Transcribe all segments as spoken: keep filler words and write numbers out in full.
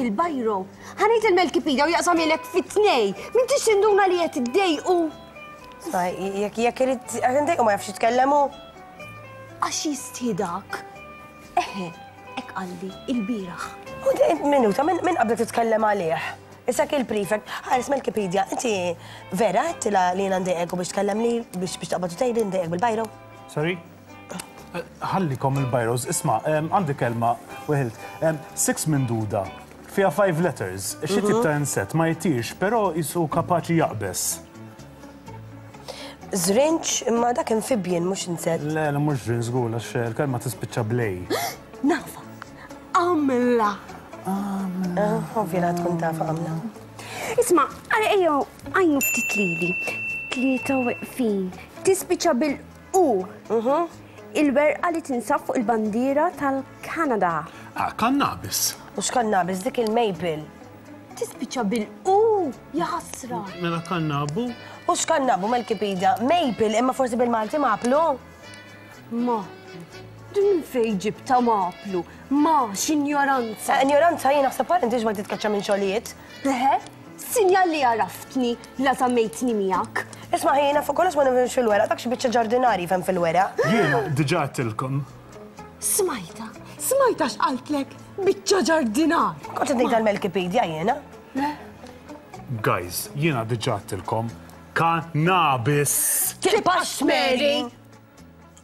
il-bajro, ħa ngħid il-Melkipedia u jaqsamhielek fi tnejn. M'intix tinduna li qed iddejqu? Jekk jekk irid ndejqu ma jafx jitkellem hu. Għax jistħi dak. Eħe, hekk qalli il-bieraħ. U minuta, min qabdek titkellem għalih? Issa il-prefect, ħares Melkipedia, inti vera għedtilha li jiena ndejqek u biex tkellem li biex biex taqbad u tgħidli ndejqek bil-bajro? Sorry? Ħallikom il-bajros, isma', għandi kelma weħilt. Six minduda, fiha five letters, xi tip ta' insett ma jtirx, però jisu kapaċi jaqbes. Żrinġ, imma dak amphibian mhux insett. Le, le mhux żrinġ żgur għax il-kelma tispiċċa b'l-A. Nafa. Għamla. Ovvja la tkun taf għamla. Isma', għara ejjew għajnu ftit lili. Tlieta weqfin. Tispiċċa bil-U. Il-werqa li tinsab fuq il-bandiera tal-Kanada. Ah, cannabis. Mhux cannabis, dik il-maple. Tispiċċa bil-U, jaħasra. Mela kannabu? Mhux kannabu Melkipedia, maple, imma forsi bil-Malti maplu. Ma, din fejn ġibta maplu? Ma, x'injoranza. Eh, Ignoranza jien naħseb għal inti ma titkaċċa minn xogħlijiet. Eħe, sinjal li għaraftni la żammejtni miegħek. Isma' jiena fuq kollox ma nifhimx fil-weraq, dak xi biċċa ġardinari fhem fil-weraq. Jiena diġà għedtilkom. Smajta, smajta x'qaltlek, biċċa ġardinar. Kont qed ngħid għal-Melkipedia jiena. Guys, jiena diġà għedtilkom. Cannabis. Tibqax tmeri.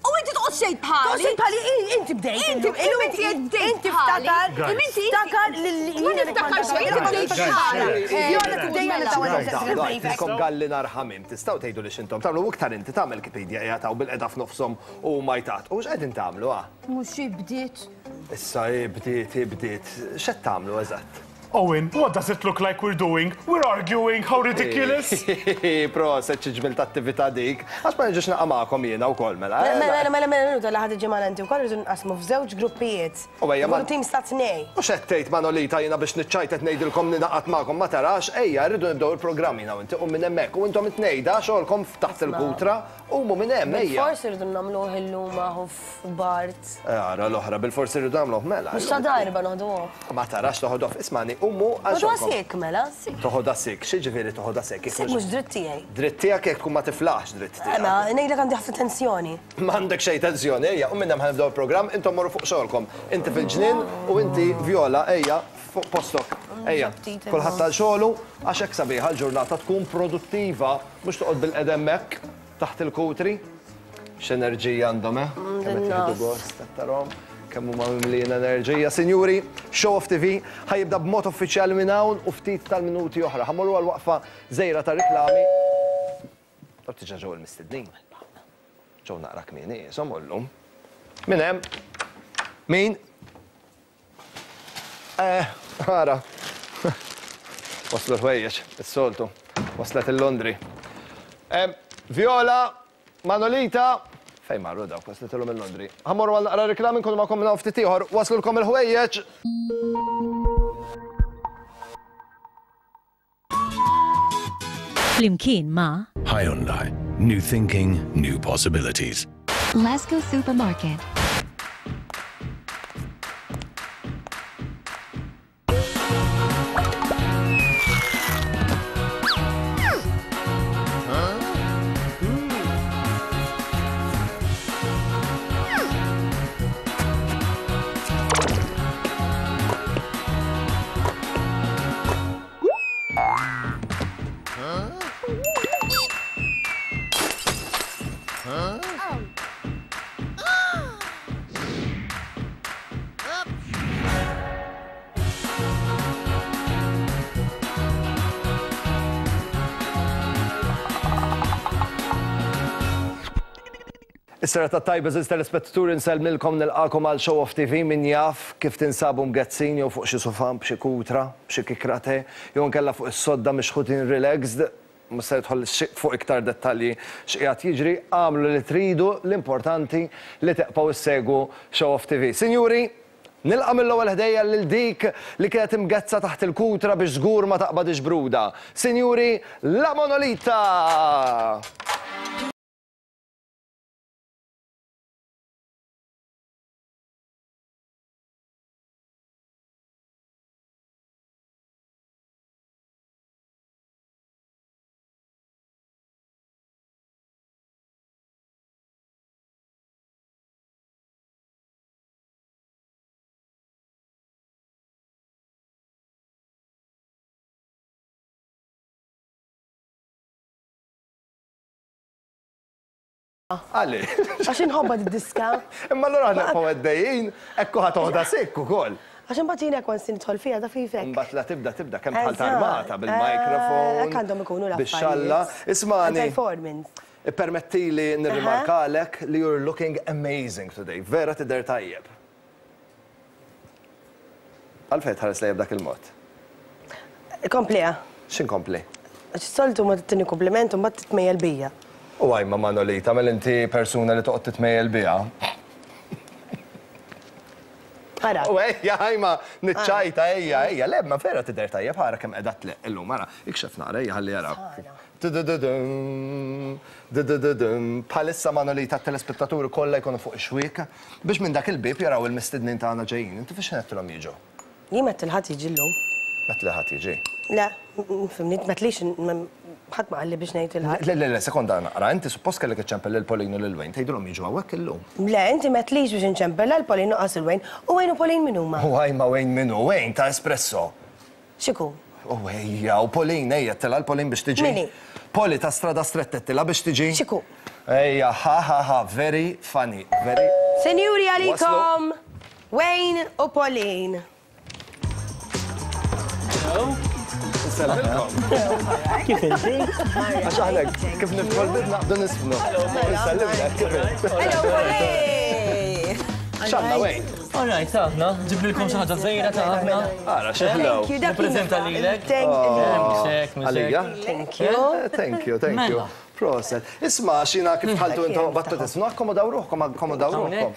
U inti toqgħod xejn bħali. Toqgħod bħali, inti bdejt. Inti inti bdejt. Inti ftakar. Guys. Inti Ftakar li Ma niftakar xejn, inti bdejt bħali. Jola tibdejja nitawal. Kom galli narħamim, tistgħu tgħidu li x'intom tagħmlu iktar inti tagħmel Wikipedia qiegħed hawn bil-qeda f'nofshom u ma jtat. U x'qegħdin tagħmlu ah? Mhux bdiet. Issa bdiet, bdiet. X'qed tagħmlu eżatt? Owen, what does it look like we're doing? We're arguing, how ridiculous! Proset xi ġmil ta' attività dik. Għax ma niġux naqa' magħkom jiena wkoll mela. eh? Mela, mela, mela, minuta li ħad ġimgħa inti wkoll rridu nqasmu f'żewġ gruppijiet. U ejja, ma- Kull tim sta tnej. Mhux qed tgħid Manolita jiena biex niċċajt qed ngħidilkom ninaqat magħkom ma tarax, ejja rridu nibdew il-programm jiena u inti u minn hemmhekk u intom it-tnejn da xogħolkom taħt il-kutra umu minn hemm ejja. Forsi rridu nagħmluh illum aħu f'Bart. Ara l-oħra bil-forsi rridu nagħmluh mela. Mhux ta' darba noħduh. Ma tarax toħodof, ismani, umu għal Noħduha xogħolkom. sik mela. Toħodha sik, x'jiġifieri toħodha sik? Sik mhux dritt tiegħi. Dritt tiegħek jekk tkun ma tiflaħx dritt tiegħek. Ma ngħidlek għandi ħafna tensjoni. M'għandek xejn tensjoni, ejja, u minn hemm ħa nibdew il-programm, intom morru fuq xogħolkom. Inti fil-ġnien u inti Viola, ejja, fuq postok. Ejja, Ftit kulħadd tal xogħlu għax hekk sabiħa l-ġurnata tkun produttiva, mhux toqgħod bil-qedem hekk taħt il-kutri. X'enerġija għandhom, eh? Kemm qed jieħdu gost qed tarahom, kemm huma mimlijin enerġija. Sinjuri, Show Off TV ħa jibda b'mod uffiċjali minn hawn u ftit tal-minuti oħra. Ħa mmorru għal waqfa żgħira ta' riklami. Tab tiġa ġew il-mistednin. Ġew naqra kmieni, insomma llum. Min hemm? Min? Eh, ara. Waslu l-ħwejjeġ, is-soltu. Waslet il-Londri. Em, Viola, Manolita, fejn marru dawk, waslet illum il-Londri. Ħa mmorru għal naqra reklami nkunu magħkom minn hawn ftit ieħor. Waslulkom il-ħwejjeġ. Flimkien ma' Hyundai. New thinking, new possibilities. Lasco Supermarket. Is-serata tajba żewġ telespettaturi nsellmilkom nilqakom għal Show Off TV min jaf kif tinsabu mgezzin jew fuq xi sofan b'xi kutra, b'xi kikrate, jew nkella fuq is-sodda mixħutin relaxed, mhux se nidħol fuq iktar dettalji x'qiegħed jiġri, għamlu li tridu, l-importanti li teqpaw issegwu Show Off TV. Sinjuri, nilqa' mill-ewwel ħdejja lil dik li kienet imgezza taħt il-kutra biex żgur ma taqbadix bruda. Sinjuri, la Monolita! Għalli. Għax inħobba d-diska. Imma allura aħna nibqgħu għaddejjin, ekku ħa toħda sikk ukoll. Għax imbagħad jien hekk once nidħol fiha ta' fifek. Imbagħad la tibda tibda kemm bħal armata bil-mikrofon. Hekk għandhom ikunu l-affarijiet. Bix-xalla. Ismani. Performance. Permettili nirrimarkalek li you're looking amazing today. Vera tidher tajjeb. Għalfejn tħares lejja b'dak il-mod? Kompliha. X'inkompli? Għax soltu ma tagħtini kompliment u mbagħad titmejjel bija. U għajma Manolita, mela inti persuna li toqgħod titmejjel biha. Ara. U ejja, ħajma, niċċajta, ejja, ejja, le, ma vera tidher tajjeb, ħara kemm qiegħda tleqq illum, ara, ikxef naqra, ejja ħalli jaraw. Tudududum, tudududum. Bħalissa Manolita t-telespettaturi kollha jkunu fuq ix-xwiek biex minn dak il-bieb jaraw il-mistednin tagħna ġejjin. Inti fiex ngħedtilhom jiġu? Jien ma tilħadd jiġi llum. Ma tilħadd jiġi. Le, fimni, ma tlix, ħadd ma qalli biex ngħid il-ħadd. Le, le, le, sekonda naqra, inti suppost kellek iċċempel lil Pauline u lil Wayne, tgħidulhom jiġu hawnhekk illum. Le, inti ma tlix biex inċempel lil Pauline u qas il-Wayne. U Wayne u Pauline min huma? U għajma Wayne min hu? Wayne ta' Espresso. X'iku? U ejja, u Pauline, ejja, tela l-Pauline biex tiġi. Min hi? Poli ta' Strada Stretta tela biex tiġi. X'iku? Ejja, ha ha ha, very funny, very. Senjuri għalikom, Wayne u Pauline. Nsellmilkom. Kif inti? Għax aħna kif nidħol naqbdu nisfnu. Nsellimlek, kif int? Hello, Pauline! X'għandna Wayne? All right, aħna, ġiblilkom xi ħaġa żgħira ta' aħna. Ara, xi ħlew. Thank you, dak Nippreżenta lilek. Thank you. Mxek, mxek. Għalija? Thank you. Eh, Thank you, thank you. Mela. Proset. Isma, xina kif tħaltu intom battu tisnu, akkomodaw ruħkom, akkomodaw ruħkom.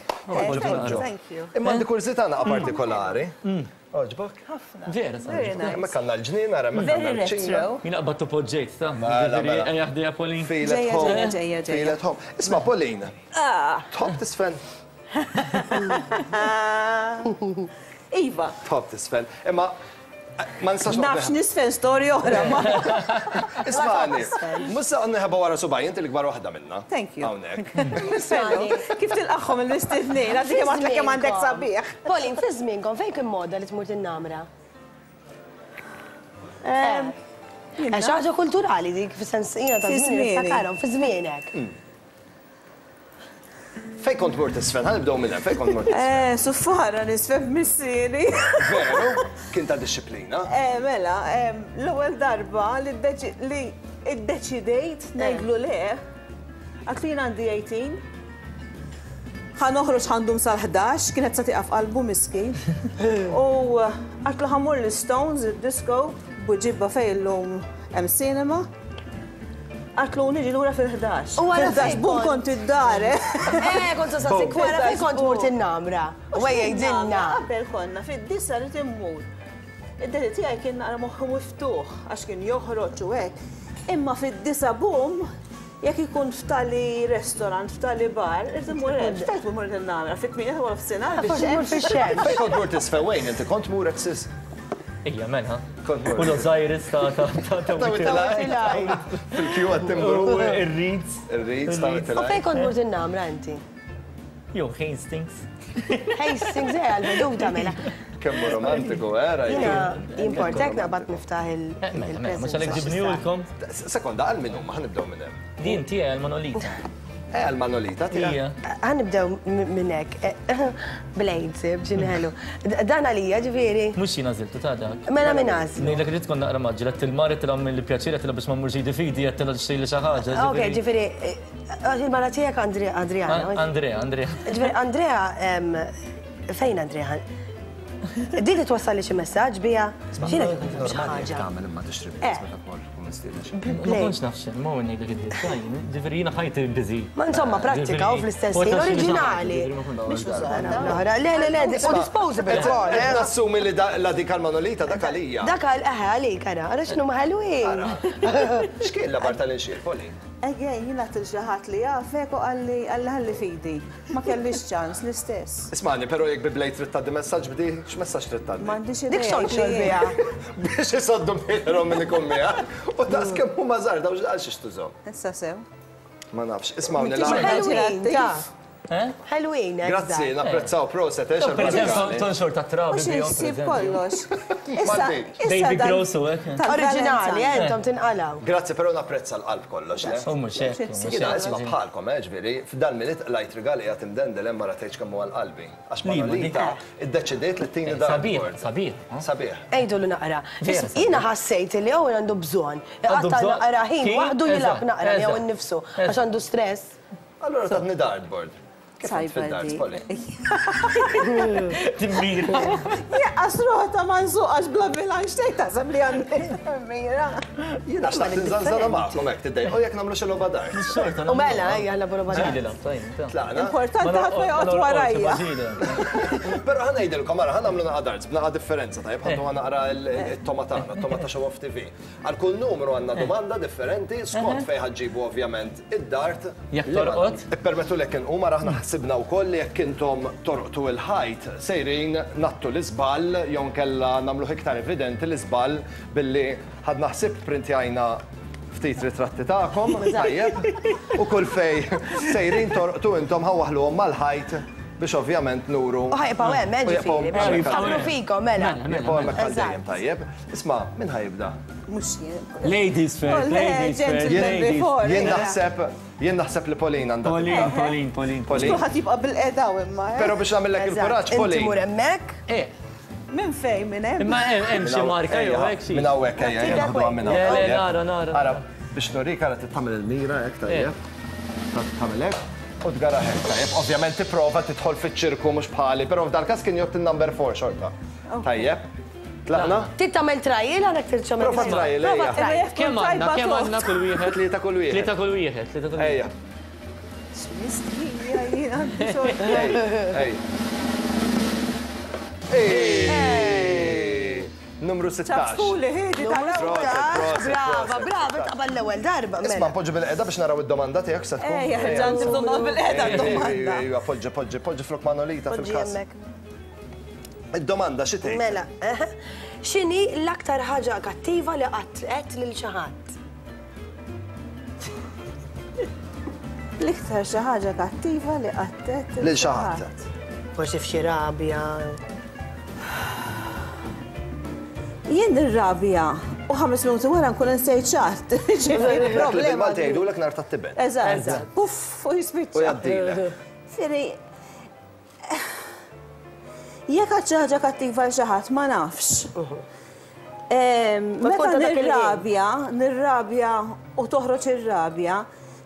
Thank you. Imma għandi kurżità naqa partikolari. Oġbok? Vera, Very sabiħ. nice. Hemmhekk għandna l-ġnien, ara hemmhekk Very għandna l-ċina. retro. Jien qbadtu poġġejt, ta' Mela, mela. Ejja ħdejja Pauline. Feel at Ġejja, home. ġejja, ġejja, ġejja. Feel at home. Isma, Pauline. Tħobb tisfen. Iva, Tħobb tisfen. Imma ma nistax nafx nisfen storja oħra ma. Ismani, musa nħeba wara subaj, inti l-ikbar waħda minna. Thank you. Hawnhekk. Kif tilqaħħom il-mistednin, għaddi kemm għadlek kemm għandek sabiħ. Pauline, fi żmienkom fejn kien moda li tmur tinnamra? Għax ħaġa kulturali dik fis-sens jiena ta' Fi żmien żmieni. niftakarhom fi żmienek. Fejn kont mur tisfen? Ħa nibdew minn hemm, fejn kont mur tisfen? Eh, suffara nisfen missieri. Veru, kien ta' disċiplina. Eh, mela, em, l-ewwel darba li ddeċi- li iddeċidejt ngħidlu le, għatli jien għandi tmintax. Ħa noħroġ ħa ndum sal-ħdax, kienet sa tiqaf qalbu miskin. U għatlu ħa mmur l-Stones, il-disco, Buġibba fejn illum hemm cinema. Għatlu niġi lura fil-ħdax. U wara Fil-ħdax, fejn bum kont? kont id-dar, eh. Eh, kont saqsik wara fejn kont tmur tinnamra. U ejja jgħidilna. Qabel konna fid-disa li timmur. Id-daddy tiegħi kien naqra moħħu miftuħ għax kien joħroġ u hekk. Imma fid-disa bum, jekk ikun f'tali restaurant, f'tali bar, irid immur hemm. Xtajt immur tinnamra fit-tmienja ta' nofsinhar Forsi tmur fix-xemx. Fejn kont mur tisfen Wayne, inti kont mur exis. Ejja, mela. Kont mur. U l-Osiris ta' ta' ta' ta' Ta' Fil-kju għat-timbru. U ir-Reeds. Ir-Reeds ta' U fejn kont mur tinnamra inti? Jew Hastings. Hastings, eh, għal-veduta mela. Kemm hu romantiku, eh, rajt. Jiena jimportek naqbad niftaħ il- Eh, Mela, mela, mhux għalhekk il-presents. ġibniulkom. Sekonda, għal min huma, ħa nibdew minn hemm. Din tiegħi għal-Manolita. Eh, għal Manolita tiegħek. Ija. Ħa nibdew minn hekk. Blades, bġinħelu. Dan għalija, ġifieri. Mhux jien għażiltu ta' dak. Mela minn għażlu. Ngħidlek li tkun naqra maġġel, qed il-mar qed tilgħam mill-pjaċir qed biex ma mmurx idi fidi qed tilgħam xejn li xi ħaġa. Ok, ġifieri, eh, il-mara tiegħek Andre- Adriana. Andrea, Andrea. Ġifieri, Andrea, em, fejn Andrea? Din li twassal li xi messaġġ bija? X'jiena xi Normali jekk ħaġa. tagħmel imma tixtri Eh. blades meta tmur tkun mistieden. Ma kontx naf xejn, ma ngħidlek id-design. Ġifieri jiena ħajti busy. Ma insomma, prattika u fl-istess ħin oriġinali. L-oħra, le, le, le, u disposable ukoll, eh. Nassumi li da- la dik għal Manolita dak għalija. Dak għal eħe għalik, ara, ara x'inhu ħelwin. X'kien la barta l-inxir, Poli? Again, jien għat xi ħadd li jafek u qalli qalli ħalli fidi. Ma kellix ċans l-istess. Ismani, però jekk bi blade trid tgħaddi messaġġ bdi, x'messaġġ trid tgħaddi? M'għandix idea. Dik xogħol biha. Biex isoddu mejrhom minn ikun miegħek. U daqs kemm huma żgħar daw għal xiex tużhom. Issa sew. Ma nafx, ismawni M'intix l Ħelwin, ta' Ħelwin. Grazzi, napprezzaw proset. Per eżempju, tonxor ta' trabi. Mhux issib kollox. Issa, Baby gross u hekk. Oriġinali, intom tinqalaw. Grazzi, però napprezza l-qalb kollox. U mhux hekk. Jiena isma' bħalkom, ġifieri, f'dan miliet qlajt rigali qed imdendel hemm ma ratejtx kemm huwa l-qalbi. Għax Manolita iddeċidiet li tini dar. Sabiħ, sabiħ. Sabiħ. Ejdu naqra. Jiena ħassejt li Owen għandu bżonn. Għatta naqra ħin waħdu jilgħab naqra jew innifsu għax għandu stress. Allura tatni dartboard. Kif fid-darts, Polly? Timmira. Jaqqas ruħta ma nsuqax bla bilanċ tgħid taħseb li għandi mira. Jiena xtaqt nżanżana magħkom hekk tiddejq. U jekk nagħmlu xi logħba darts. U mela, ejja nagħmlu logħba darts. Tlaqna. Importanti ħadd ma joqgħod warajja. Però ħa ngħidilkom ara ħa nagħmlu naqa' darts b'naqa' differenza tajjeb ħaddu ħa naqra t-toma tagħna, t-toma ta' Show Off T V. Għal kull numru għandna domanda differenti skont fejn ħaġġibu ovvjament id-dart. Jekk torqod. Ippermettu lek inqum ara aħna ħsibna wkoll li jekk intom torqtu il-ħajt sejrin nattu l-iżball jew nkella nagħmluh iktar evidenti l-iżball billi ħadna ħsieb printjajna ftit ritratti tagħkom, tajjeb, u kull fej sejrin torqtu intom ħawaħluhom mal-ħajt biex ovvjament nuru. U ħajbqgħu hemm, ġifieri, biex jiftakru fikom, mela. Jibqgħu hemmhekk għal dejjem, tajjeb. Isma' min ħajibda? Mhux jien. Ladies first, ladies first. Jien naħseb Jien naħseb li Pauline għandha. Pauline, Pauline, Pauline. Pauline. Kulħadd jibqa' bil-qeda imma. Però biex nagħmellek il-kuraġġ, Pauline. Inti mur hemmhekk. Eh. Minn fejn minn hemm? Imma hemm xi marka jew hekk xi. Minn hawnhekk ejja, ejja naħduha minn hawn. Le, le, nara, nara. Ara, biex nurik ara tagħmel il-mira hekk tajjeb. Tagħmel hekk u tgara hekk tajjeb. Ovvjament tipprova tidħol fiċ-ċirku mhux bħali, però f'dal każ kien jgħod il-number four xorta. Tajjeb. Tlaqna? Trid tagħmel trial għandek trid tagħmel. Prova trial, ejja. Kemm għandna, kemm għandna kull wieħed? Tlieta kull wieħed. Tlieta kull wieħed, tlieta kull wieħed. Ejja. X'mistħija jien għandi xorta. Ej. Ej. Numru sittax. Ċafsuli ħiedi tal-ewwel. Brava, brava, taqbal l-ewwel darba. Isma' poġġi bil-qeda biex naraw id-domanda tiegħek se tkun. Ejja, ġan tibdu bil-qeda d-domanda. Ejja, poġġi, poġġi, poġġi flok Manolita fil-każ. Id-domanda xi tgħid? Mela, x'inhi l-aktar ħaġa kattiva li qatt qed lil xi ħadd? L-iktar xi ħaġa kattiva li qatt qed lil xi ħadd. Forsi f'xi rabja. Jien nirrabja u ħames minuti wara nkun insejt xatt. Ġifieri problema. Malti jgħidulek nar tat-tiben. Eżatt. Puff, u jispiċċa. U jgħaddilek. Fieri jekk għad xi ħaġa kattiva għal xi ħadd ma nafx. Meta nirrabja, nirrabja u toħroġ ir-rabja,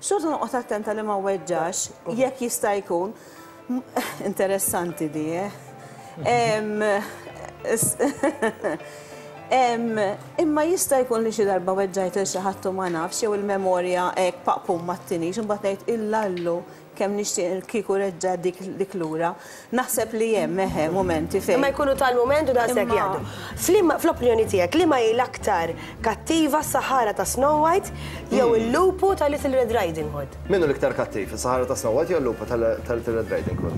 xorta noqgħod attenta li ma weġġax, jekk jista' jkun. Interessanti di, eh? Imma jista' jkun li xi darba weġġajt lil xi ħadd u ma nafx jew il-memorja hekk paqpum ma ttinix, imbagħad ngħid illallu kemm nixtieq kieku reġġa' dik lura. Naħseb li hemm eħe mumenti fejn. Imma jkunu tal-mument u daqshekk jgħaddu. Fl-opinjoni tiegħek liema hi l-aktar kattiva s-saħara ta' Snow White jew il-lupu ta' Little Red Riding Hood? Min hu l-iktar kattiv, is-saħara ta' Snow White jew il-lupu ta' Little Red Riding Hood?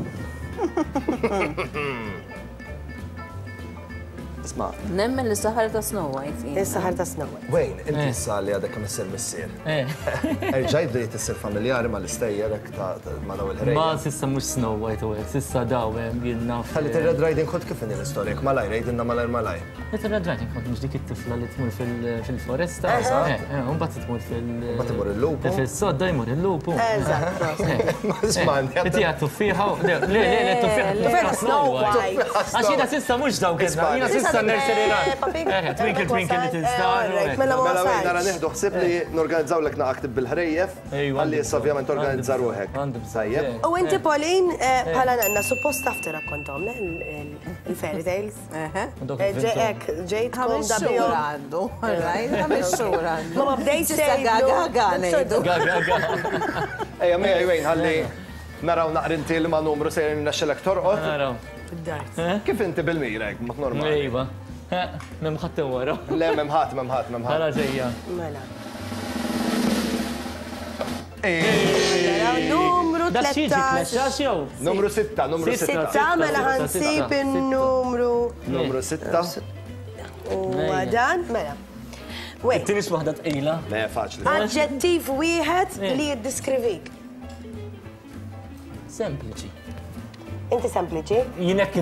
Isma'. Nemmen li s-saħara ta' Snow White. Is-saħara ta' Snow White. Wayne, inti issa li għadek kemm issir missier. Erġajt bdejt issir familjari mal-istejjer hekk ta' ma' daw il-ħrejjef. Ma s'issa mhux Snow White u hekk, s'issa daw hemm jien naf. Ta' Little Red Riding Hood kif inhi l-istorja? Jekk malajr, għidilna malajr malajr. Little Red Riding Hood mhux dik it-tifla li tmur fil-foresta. Eżatt. U mbagħad tmur fil- Mbagħad imur il-lupu. Fis-sodda jmur il-lupu. Eżatt. Isma' Inti għad tuffieħa u le, le, le, tuffieħa Tuffieħa Snow White. Għax jiena s'issa mhux dawk jiena s'issa nursery rhyme. Twinkle twinkle little star. Mela ma Mela wejn nara nieħdu ħsieb li norganizzawlek naqgħa bil-ħrejjef. Ħalli issa ovvjament organizza ruħek. Tajjeb. U inti Pauline bħala nanna suppost taf tirrakkontom le il-fairy tales. Ġejk ġejtkom xhur għandu. Ħames xhur għandu. Ma bdejt Issa gaga ga ngħidu. Gaga ga. Ejja miegħi wejn ħalli naraw naqrinti li ma' numru sejrin nexxelek torqod. Naraw. Kif inti bil-mira hekk mod normali? Iva. M'hemm ħadd wara. Le m'hemm ħadd, m'hemm ħadd, m'hemm ħadd. Ħara ġejja. Mela. Numru tlettax. jew? Numru sitta, numru sitta. Sitta, mela ħansib in-numru. Numru sitta. U dan, mela. Wait. It-tieni waħda tqila. Le, faċli. Aġġettiv wieħed li jiddiskrivik. Sempliċi. Inti sempliċi? Jien hekk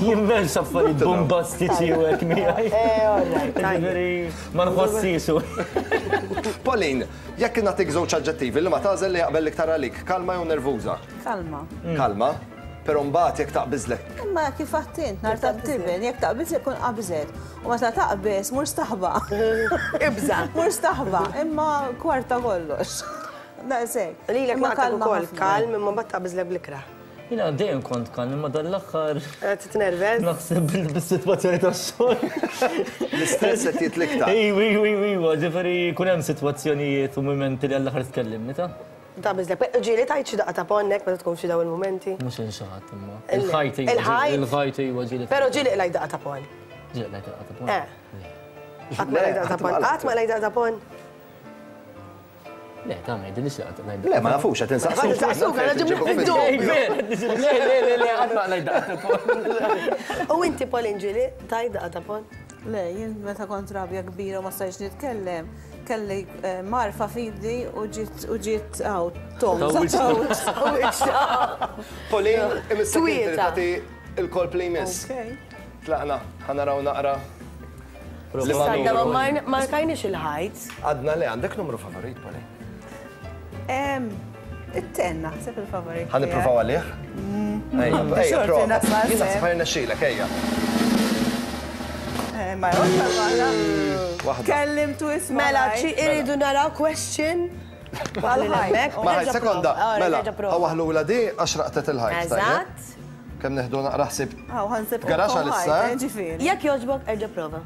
jien m'hemmx affarijiet bombastiċi u hekk miegħi. Eh, all right. Ġifieri ma nħossix. Pauline, jekk nagħtik żewġ aġġettivi li ma tagħżel li jaqbel iktar għalik, kalma jew nervuża? Kalma. Kalma, però mbagħad jekk taqbiżlek. Imma kif għattint, nar ta' tiben, jekk taqbiżlek kun qabżet. U meta taqbeż, mur staħba. Ibża. Mur staħba, imma kwarta kollox. Daqshekk. Lilek Imma ma kalma ukoll ħafna. kalm imma mbagħad taqbiżlek bl-ikrah. Jiena dejjem kont kalm, imma dan l-aħħar Titnervez? naħseb bis-sitwazzjoni tax-xogħol. L-istress qed jitliktar. Ejwa, ejwa, ejwa, ġifieri jkun hemm sitwazzjonijiet u mumenti li għall-aħħar tkellimni ta' Taqbiżlek. Ġieli tajt xi daqqa ta' ponnek meta tkun f'xi dawn il-mumenti. Mhux inxaħat imma. Il- Il-ħajt iwa. il-ħajt? Il-ħajt iwa ġieli. Però ġieli qlajt daqqa ta' pon. Ġieli qlajt daqqa ta' pon. Eh. Qatt ma qlajt daqqa ta' pon. Qatt ma qlajt daqqa ta' pon. Le, ta' ma jidilix li qatt qlajt Le, ma nafux qed insaqsuk. Ma insaqsuk, għana ġibna fid-dubju. Le, le, le, le, qatt ma qlajt daqqa ta' pon. U inti Pauline ġieli tajt daqqa ta' pon? Le, jien meta kont rabja kbira u ma stajtx nitkellem, kelli eh, marfa fidi u ġiet u ġiet għaw, tom. Pauline, imissek inti li Twieta. tagħti il-kolp li jmiss. Ok. Tlaqna, ħa naraw naqra. Li ma Sadda ma numru. mar- markajniex il-ħajt. Għadna le, għandek numru favorit, Pauline? Em, It-ten naħseb il-favorit. Ħa nippruvaw għalih? Ejja, ejja, Xorti prova. nasal Jien sew. naħseb ħa jirnexxilek, ejja. Eh, Ma jgħodna barra. Waħda. Kellimtu isma. Mela, ċi iridu naraw question. Għal-ħajt. Ma ħaj, sekonda, mela, għawaħlu di għax raqtet il-ħajt. tajjeb? Eżatt. Kemm neħdu naqra ħsib. Għaw, ħansib. Garax għal-issa, eh? Ġifieri. Jekk jogħġbok, erġa' prova.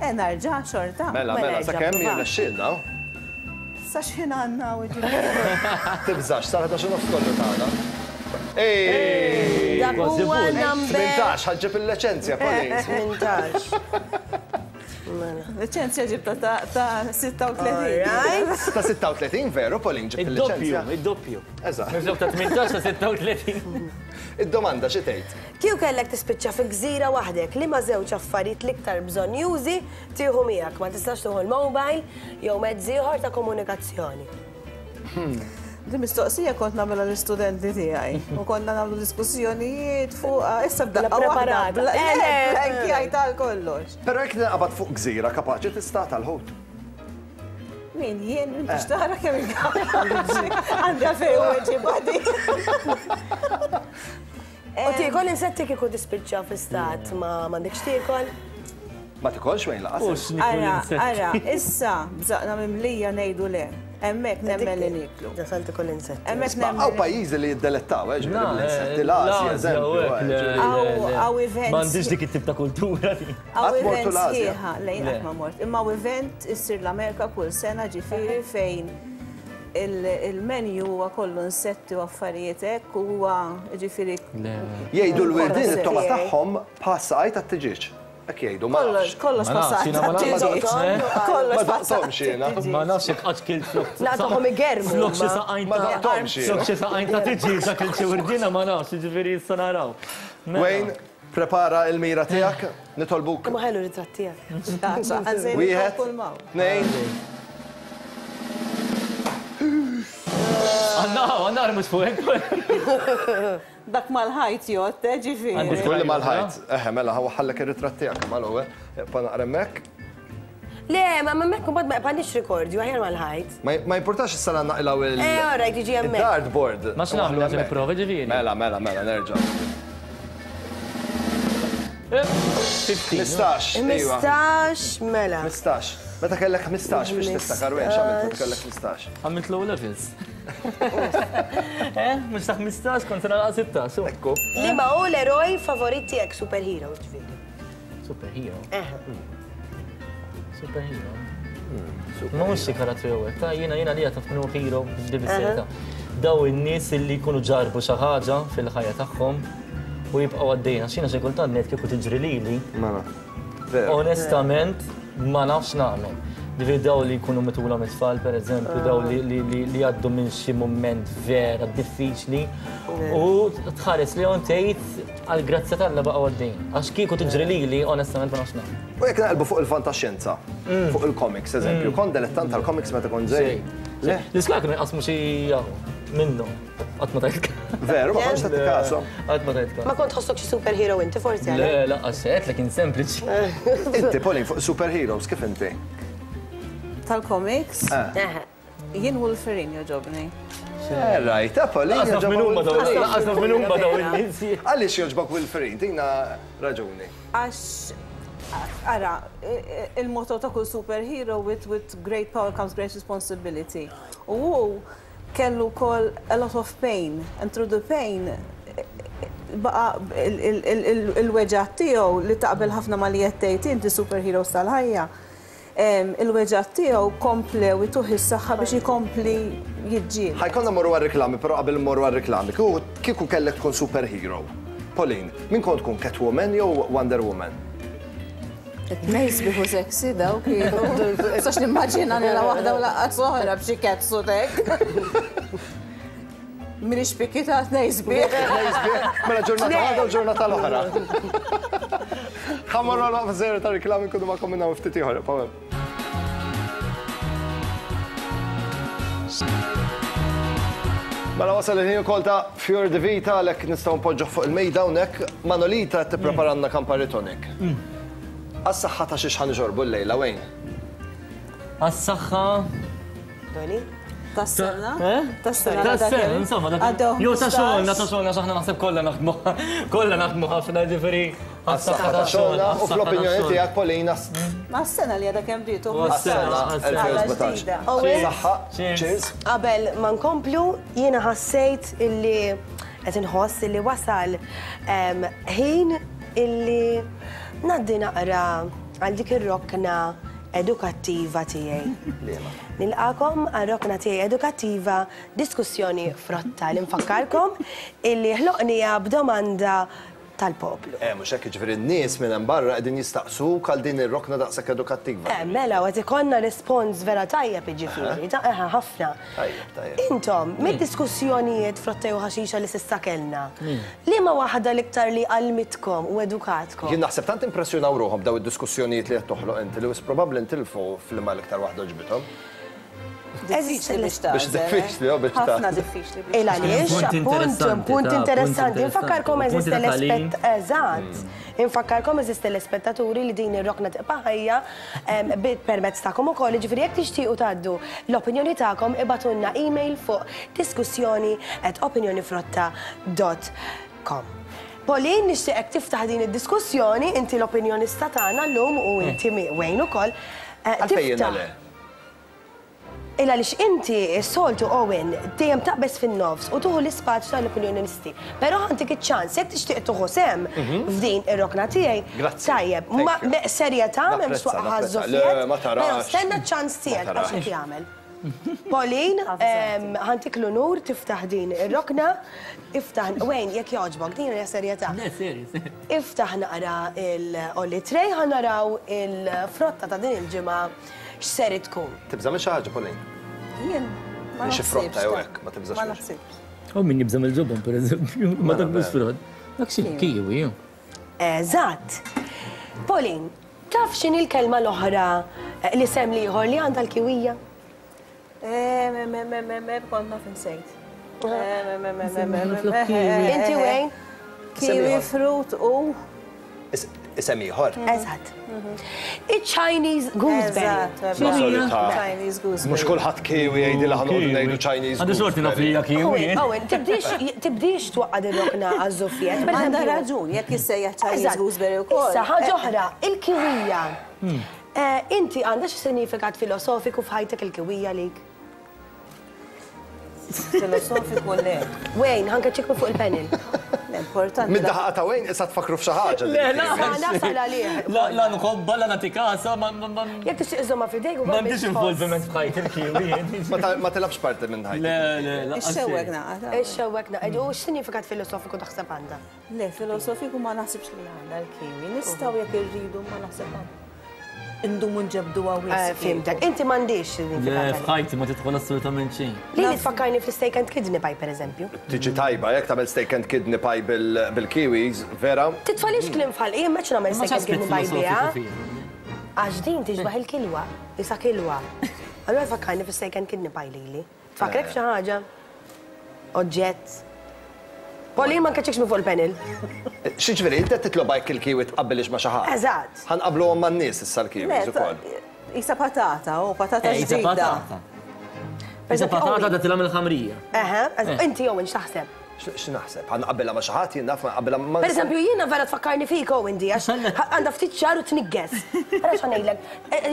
Eh, narġa' xorta. Mela, Mela, mela, erġa' sakemm prova. jirnexxilna. Sa xħin għandna u ġifieri. Tibżax, sar ħdax u nofs kollu tagħna. Ej! Dak Kważi huwa bull. number tmintax, ħaġġib il-liċenzja, Pauline. tmintax. Liċenzja ġibta ta' ta' sitta u tletin. Alright. Ta' sitta u tletin veru, Pauline, ġibt Id-doppju, il-liċenzja. id-doppju. Eżatt. Minflok ta' tmintax ta' sitta u tletin. Id-domanda xi tgħid? Kieku kellek tispiċċa fi gżira waħdek li ma żewġ affarijiet l-iktar bżonnjużi tieħu miegħek, ma tistax tieħu l-mobile jew mezz ieħor ta' komunikazzjoni. Di mistoqsija kont nagħmilha l-istudenti tiegħi u konna nagħmlu diskussjonijiet fuq issa b'daqqa La waħda. preparata. bla- Eh, le. Blanki tal kollox. Però jekk naqbad fuq gżira kapaċi tista' tal-ħut. Min jien m'intix tara kemm il-kapaċi. Għandha fejn weġibadi. U tiekol insetti kieku tispiċċa fi stat ma m'għandekx tiekol. Ma tikolx wejn laqas. U x'nikol Ara, insetti. ara, issa bżaqna mimlija ngħidu le. Hemmhekk nemmen li niklu. Jasal tiekol insetti. Hemmhekk Ma nemmen. hawn pajjiżi li jiddelettaw, eh, ġifieri Na, bl-insetti eh, l-Asja, l-Asja, eżempju. u hekk, eh, le, ġifieri. le, Aw- le. aw events. M'għandix dik it-tip ta' kultura. Għaw Qatt mortu event l-Asja? sħiħa, lejn Le. qatt ma mort. Imma hawn event issir l-Amerika kull sena ġifieri fejn il- il-menu huwa kollu insetti u affarijiet hekk u huwa ġifieri Le. Jgħidu l-wirdin Kollox it-toma tiegħi. tagħhom bħas saqaj tat-tiġieġ. Hekk jgħidu, ma kollox nafx. kollox Ma nafx, passat. jiena ma nafx. tat-tiġieġ. Kollox Ma passat. daqtomx jiena. Ma nafx jekk qatt kilt flok. Naqtahom igermu Flok xi huma. saqajn Ma ta' daqtomx jiena. Flok xi saqajn ta' tiġieġ kilt xi wirdina ma nafx, jiġifieri issa naraw. Mela. Wayne, prepara il-mira tiegħek, nitolbuk. Ma ħelu ritratt tiegħek. Wieħed, tnejn, Għanna, għanna mhux fuq hekk. Dak mal-ħajt jott, eh, ġifieri. Għandi Kulli mal-ħajt. Eħe, mela, ħallek ir-ritratt tiegħek mal-ewwel. Ibqa' naqra hemmhekk. Le, ma ma mekk mbagħad ma jqpanix rekordju aħjar mal-ħajt. Ma ma importax issa naqilgħu il- Eh, all right, jiġi hemmhekk. Il-dartboard. Ma x'nagħmlu, Waħlu hemmhekk. nipprova, ġifieri. Mela, mela, mela, nerġa'. ħmistax. ħmistax, iva. Ħmistax, mela. ħmistax. Meta kellek ħmistax biex tiftakar wejn x'għamilt meta kellek ħmistax? Għamilt low levels. Eh, mhux ta' ħmistax kont nagħlaq sittax. u. Ekku. Li ma hu l-eroj favorit tiegħek superhero ġifieri. Superhero. Eh. Superhero. Ma mhux xi karattru jew hekk, ta' jiena jiena li taf minnu hero b'dibiseta. Daw in-nies li jkunu ġarbu xi ħaġa fil-ħajja tagħhom u jibqgħu għaddejna. X'jiena xi kultant ngħid kieku tiġri lili, Mela. Veru. onestament ma nafx nagħmel. Ġifieri daw li jkunu mitula mit-tfal, per eżempju, daw li li li li jgħaddu minn xi mument vera diffiċli u tħares li hawn tgħid għall-grazzja t'Alla baqgħu għaddejn. Għax kieku tiġri lili, onestament ma nafx nagħmel. U jekk naqilbu fuq il-fantaxjenza, fuq il-comics, eżempju, kont dilettant tal-comics meta kont żgħir. Le, L-iskola kienu jqasmu xi jaħu. Minnhom. Qatt ma tajt. Veru, ma kontx tagħti kasu. Qatt ma tajt kasu. Ma kont tħossok xi superhero inti forsi Le, lanqas għedtlek kien sempliċi. Inti, Pauline, fuq superheroes, kif inti? Tal-comics? Jien Wolverine jogħġobni. Right, Pauline. Lanqas naf min huma dawn, lanqas naf min huma dawn in-nies. Għaliex jogħġbok Wolverine? Tina raġuni. Għax, ara, il-motto ta' kull superhero, with, with great power comes great responsibility. U hu kellu kol a lot of pain, and through the pain, baqa il-weġgħat tiegħu li taqbel ħafna ma li qed tgħid inti superheroes tal-ħajja. Il-weġgħat tiegħu komplew ituh is-saħħa biex ikompli jiġġieled. Ħa jkollna mmorru għar-reklami, però qabel mmorru għar-reklami, kieku kellek tkun superhero. Pauline, min kont tkun Catwoman jew Wonder Woman? Tnejn sbieħ u sexy daw kienu. Sax nimmaġina li la waħda u lanqas oħra b'xi catsuit hekk. Minix pikita tnejn sbieħ. Tnejn sbieħ, mela ġurnata waħda u ġurnata l-oħra. Ħa mmorru għal waqfa żgħira ta' reklami nkunu magħkom minn hawn ftit ieħor. Paweł. Mela wasal il-ħin ukoll ta' Fior di Vita għalhekk nistgħu npoġġuh fuq il-mejda hawnhekk. Manolita qed tippreparanna Campari Tonic. Għas-saħħa ta' xiex ħa nixorbu llejla wejn? Għas-saħħa. Doni? Tas-sena? Tas-sena, tas-sena, insomma. Jew ta' xogħolna, ta' xogħolna, x'aħna naħseb kollha naħdmu, kollha naħdmu ħafna, ġifieri. Għas-saħħa ta' xogħolna u fl-opinjoni tiegħek Paulina. Ma' s-sena li għadha kemm bdiet u Għas-sena, elfejn u sbatax. Saħħa, cheers. Qabel ma nkomplu, jiena ħassejt illi qed inħoss illi wasal ħin illi ngħaddi naqra għal dik ir-rokna edukattiva tiegħi. Nilqakom għar-rokna tiegħi edukattiva diskussjoni frotta li nfakkarkom illi ħloqnija b'domanda tal-poplu. Eh, mhux hekk, jiġifieri n-nies minn hemm barra qegħdin jistaqsuk għal din ir-rokna daqshekk edukattiva. Eh, mela, u qed ikollna rispons vera tajjeb jiġifieri, ta' eħe ħafna. Tajjeb, tajjeb. Intom, mid-diskussjonijiet frotta jew ħaxixa li s'issa kellna, liema waħda l-iktar li għallmitkom u edukatkom? Jien naħseb tant impressjonaw ruħhom b'daw id-diskussjonijiet li qed toħloq inti li wisq probabbli ntilfu f'liema l-iktar waħda għoġbithom. Diffiċli biex tagħżel. Biex diffiċli, oh, biex Ħafna diffiċli biex Il għaliex, Punt appunt, punt interessanti, interessanti. ta' Infakkarkom punt eżiste ta' tagħlim. l-ispett, eżatt. Infakkarkom eżiste l-ispettaturi li din ir-rokna tibqa' ħajja permezz tagħkom ukoll, jiġifieri jekk tixtiequ tgħaddu l-opinjoni tagħkom ibgħatulna email fuq diskussjoni at opinjonifrotta dot com. Pauline, nixtieqek tiftaħ din id-diskussjoni, inti l-opinjonista tagħna llum u inti Wayne ukoll. Għalfejn jiena le? Il għaliex inti s-soltu Owen dejjem taqbeż fin-nofs u tuħu l-ispazju tal-opinjonisti. Però ħantik iċ-ċans jekk tixtieq tuħu sehem f'din ir-rokna tiegħi. Grazzi. Tajjeb, Thank ma you. serjetà m'hemmx Napprezza, waqgħa napprezza. ħażżofijiet, Le, ma tarax. Però stenna ċ-ċans tiegħek Ma tarax. għax hekk jagħmel. Pauline, ħantik l-unur tiftaħ din ir-rokna, iftaħ, Wayne, jekk jogħġbok, din hija serjetà. Le, serju, serju. Iftaħ naqra il-Olli Tray, ħa naraw il-frotta ta' din il-ġimgħa x'ser tkun. Tibża' minn xi ħaġa, Pauline? Jien ma Minn xi frotta jew naħsibx, hekk, ma tibżax Ma minn xi. naħsibx. U min jibża' mill-ġobon, pereżempju, ma dak mhux frott. Dak xi kiwi. Eżatt. Pauline, taf x'inhi l-kelma l-oħra li sem liħor li għandha l-kiwija? Eh, me, me, me, me, me, kont naf insejt. Eh, me, me, me, me, me, me, me, Inti Wayne? Kiwi fruit u Isem ieħor. Eżatt. Il-Chinese gooseberry. Eżatt, Ma solita. Chinese gooseberry. Mhux kulħadd kiwi jgħidilha ħa noqogħdu ngħidu Chinese Għandi xorti naf li hija kiwi. Owen, Owen, tibdix tibdix twaqqad ir-rokna għaż-żuffiet. Per Għandha eżempju- raġun, jekk jissejjaħ Chinese Eżatt. gooseberry wkoll. Issa, ħaġa oħra, il-kiwija. Eh, Inti għandha xi sinifikat filosofiku f'ħajtek il-kiwija lik? Filosofiku le. Wayne, ħanka ċikku fuq il-panel. L-importanti. Mid-daħqa ta' Wayne issa tfakru f'xi ħaġa. Le, la. Nasal għalih. La, la nħobba, la nagħti kasa, ma ma ma Jekk tixtieq iżomma f'idejk u m'għandix involviment f'ħajti il-kiwi. Ma ta- Ma tilabx parti minn ħajti. Le, le, la. Ix-xewwek naqgħa. Ix-xewwek naqgħa. U x'sinifikat filosofiku taħseb għandha? Le, filosofiku ma naħsibx li għandha l-kiwi. Nistgħu jekk irridu ma naħseb għandha. Indumu nġebdu Eh, għawis. Fimtek, inti m'għandix Le, sinifikat. f'ħajti ma tidħol assolutament xejn. Li li tfakkarni fl-steak and kidney pie, per eżempju. Tiġi tajba, jekk tagħmel steak and kidney pie bil- bil-kiwis, vera? Titfalix kliem f'ħalqi, jien m'għedx nagħmel Ma steak and kidney pie biha. filosofiku fiha. Għax din tiġbaħ il-kilwa, isa kilwa. Allura tfakkarni fl-steak and kidney pie lili. Tfakkrek f'xi ħaġa? Oġġett. Pauline ma nkaċċekx minn fuq il-panel. X'jiġifieri, inti qed titlob jekk il-kiwi tqabbilix ma' xi ħadd. Eżatt. Ħa nqabbluhom man-nies issa l-kiwis ukoll. Isa patata, u patata Eh, Isa ġdida. patata. Isa patata datilha mill-ħamrija. Eħe, inti jew x'taħseb? X'naħseb? Ħa nqabbilha ma' xi ħadd jien naf ma nqabbilha ma' Per eżempju, jiena vera tfakkarni fik Owen di, għax għandha ftit xagħar u tniggeż. Għara x'ħa ngħidlek,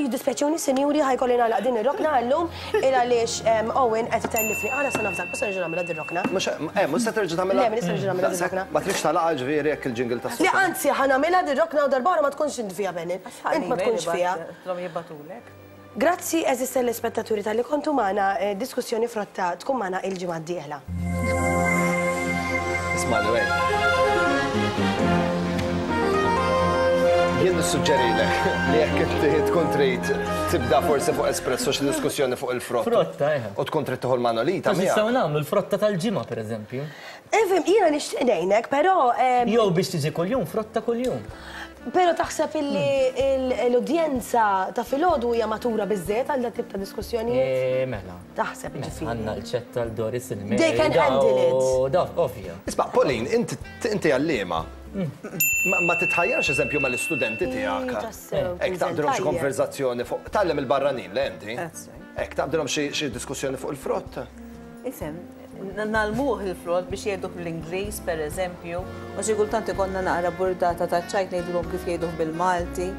jiddispjaċuni sinjuri ħa jkolli nagħlaq din ir-rokna llum il għaliex Owen qed itellifni. Għala se nafżak, mhux se nerġa' nagħmilha din ir-rokna. Mhux eh, mhux se terġa' tagħmilha. Le, m'iniex se nerġa' nagħmilha din ir-rokna. Ma tridx tagħlaqha ġifieri jekk il-jingle tas Le, anzi, ħa nagħmilha din ir-rokna u darb'oħra ma tkunx int fiha Benin. Int ma tkunx fiha. Tlhom jibagħtulek. Grazzi għeżież telespettaturi talli kontu magħna, diskussjoni frotta tkun magħna il-ġimgħa d-dieħla. Isma' wej. Jien nissuġġerilek li jekk inti tkun trid tibda forsi fuq espresso xi diskussjoni fuq il-frott. Frotta, eh. U tkun trid tieħu l-manolita Nistgħu miegħek. nagħmlu l-frotta tal-ġimgħa pereżempju. Ifhem, jiena nixtieq ngħinek, però em, Jew biex tiġi kuljum, frotta kuljum. Però taħseb illi l-udjenza ta' filgħodu hija matura biżżejjed għal dat tip ta' diskussjonijiet? Eh, Mela. Taħseb Mela, ġifieri. Għandna l-ċetta l-Doris il-Mary. They can handle it. Da, ovvja. Isma' Pauline, inti inti għalliema. Ma ma titħajjarx eżempju mal-istudenti tiegħek. tassew, Hekk taqbdilhom xi tajjeb. konverzazzjoni fuq tgħallem il-barranin le inti. That's right. Hekk taqbdilhom xi xi diskussjoni fuq il-frott. Ifhem, ngħallmuh il-frott biex jgħiduh bl-Ingliż, per eżempju, u xi kultant ikollna naqra burdata ta' ċajt ngħidulhom kif jgħiduh bil-Malti.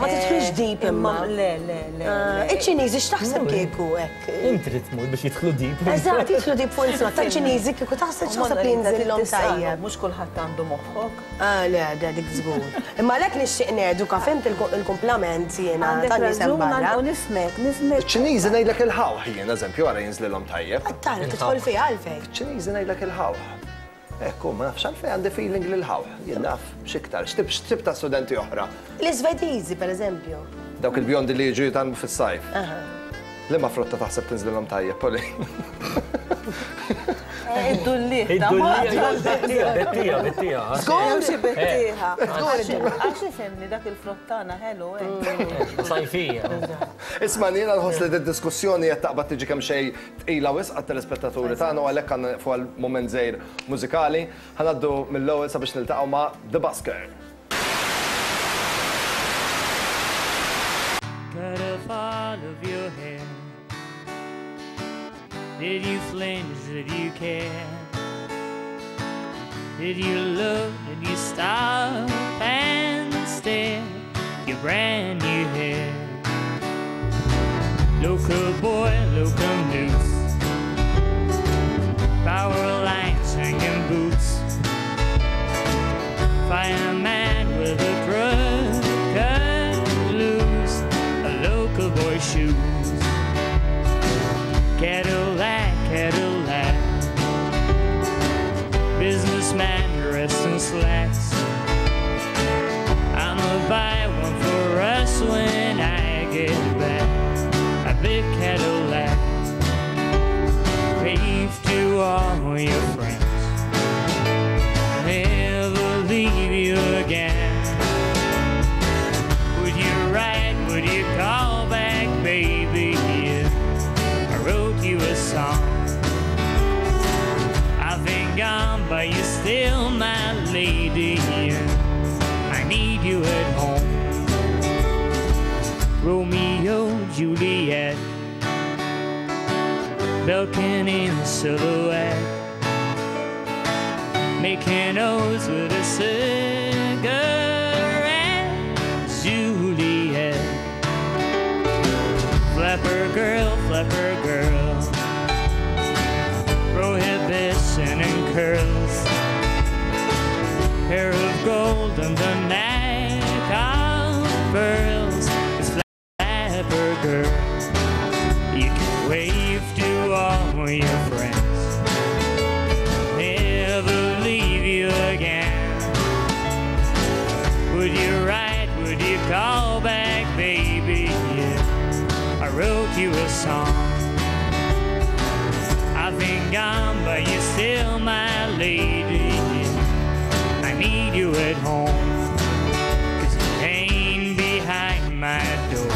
Ma tidħlux deep imma. Le, le, le. Ah, Iċ-Ċiniżi x'taħseb kieku hekk? Inti trid tmur biex jidħlu deep. Eżatt, jidħlu deep fuq il-frott tal-Ċiniżi kieku taħseb x'taħseb li jinżilhom tajjeb. Mhux kulħadd għandu moħħok. Ah, le, da dik żgur. Imma għalhekk nixtieq neduka, fhimt il-kumplament jiena Għandek tan-nies hemm raġun barra. u nifhmek, nifhmek. Iċ-Ċiniżi ngħidlek il-ħawħ jien eżempju ara jinżlilhom tajjeb. Tara tidħol fiha għalfejn. Iċ-Ċiniżi ngħidlek il-ħawħ. Ekku, ma nafx għalfejn għandi feeling lil ħawħ. Jien naf x'iktar, x'tip x'tip ta' studenti oħra. L-Iżvediżi, per eżempju. Dawk il-bjondi li jiġu jitgħallmu fis-sajf. Liema frotta taħseb tinżlilhom tajjeb, Pauline? Id-dulliħ. Id-dullieħ, bettija, bettija, bettija. Żgur xi bettieħa. Għax ifhimni dak il-frottana ħelu hekk. Sajfija. Isma' jiena nħoss li d-diskussjoni qed taqbad tiġi kemm xejn tqila wisq għat-telespettaturi tagħna u għalhekk għandna fuq għal mument żgħir mużikali. Ħa ngħaddu mill-ewwel sabiex niltaqgħu ma' The Busker. Cut off all of your hair. Did you flinch? Did you care? Did you look? Did you stop and stare? Your brand new hair. Local boy, local news. Power lines hanging boots. Fireman with a drug cut loose. A local boy shoes. Cadillac, Cadillac. Businessman dressed in slacks. I'ma buy one for us when I get back. A big Cadillac. Wave to all your friends. Never leave you again. Would you write? Would you call back, baby? If I wrote you a song. I've been gone, but you're still my lady. I need you at home. Romeo, Juliet, Belkin in silhouette, making O's with a cigarette, Juliet. Flapper girl, flapper girl, prohibition and curls, hair of gold and the neck of pearls. It's flapper girl. You can wave to all your friends, never leave you again. Would you write? Would you call back, baby? Yeah. I wrote you a song. I've been gone, but you're still my lady. I need you at home, 'cause you ain't behind my door.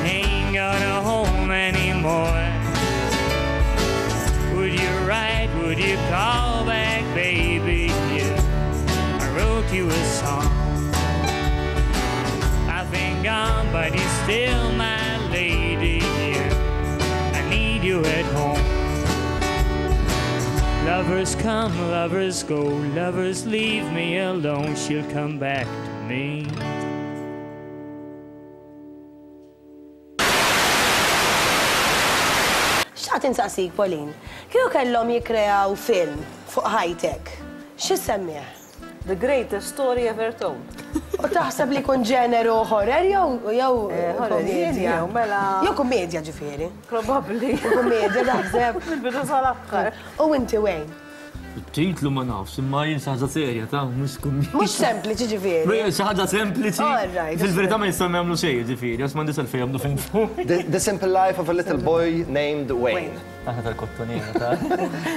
Ain't got a home anymore. Would you write you a song. I've been gone, but you're still my lady. I need you at home. Lovers come, lovers go, lovers leave me alone. She'll come back to me. Xtaqt insaqsik, Pauline, kieku kellhom jikkreaw film fuq ħajtek, x'issemmih? The greatest story ever told. U taħseb li jkun ġeneru horror jew jew kommedja? Mela. Jew kommedja ġifieri. Probabbli. Kommedja taħseb. Mill-bidu sal-aħħar. U inti Wayne? Titlu ma nafx, imma jien xi ħaġa serja ta' mhux kummedja. Mhux sempliċi ġifieri. Xi ħaġa sempliċi. Fil-verità ma jistgħu jagħmlu xejn ġifieri, għax m'għandix għalfejn jagħmlu film fuq. The Simple Life of a Little Boy Named Wayne. Aħna tal-kottoniera ta'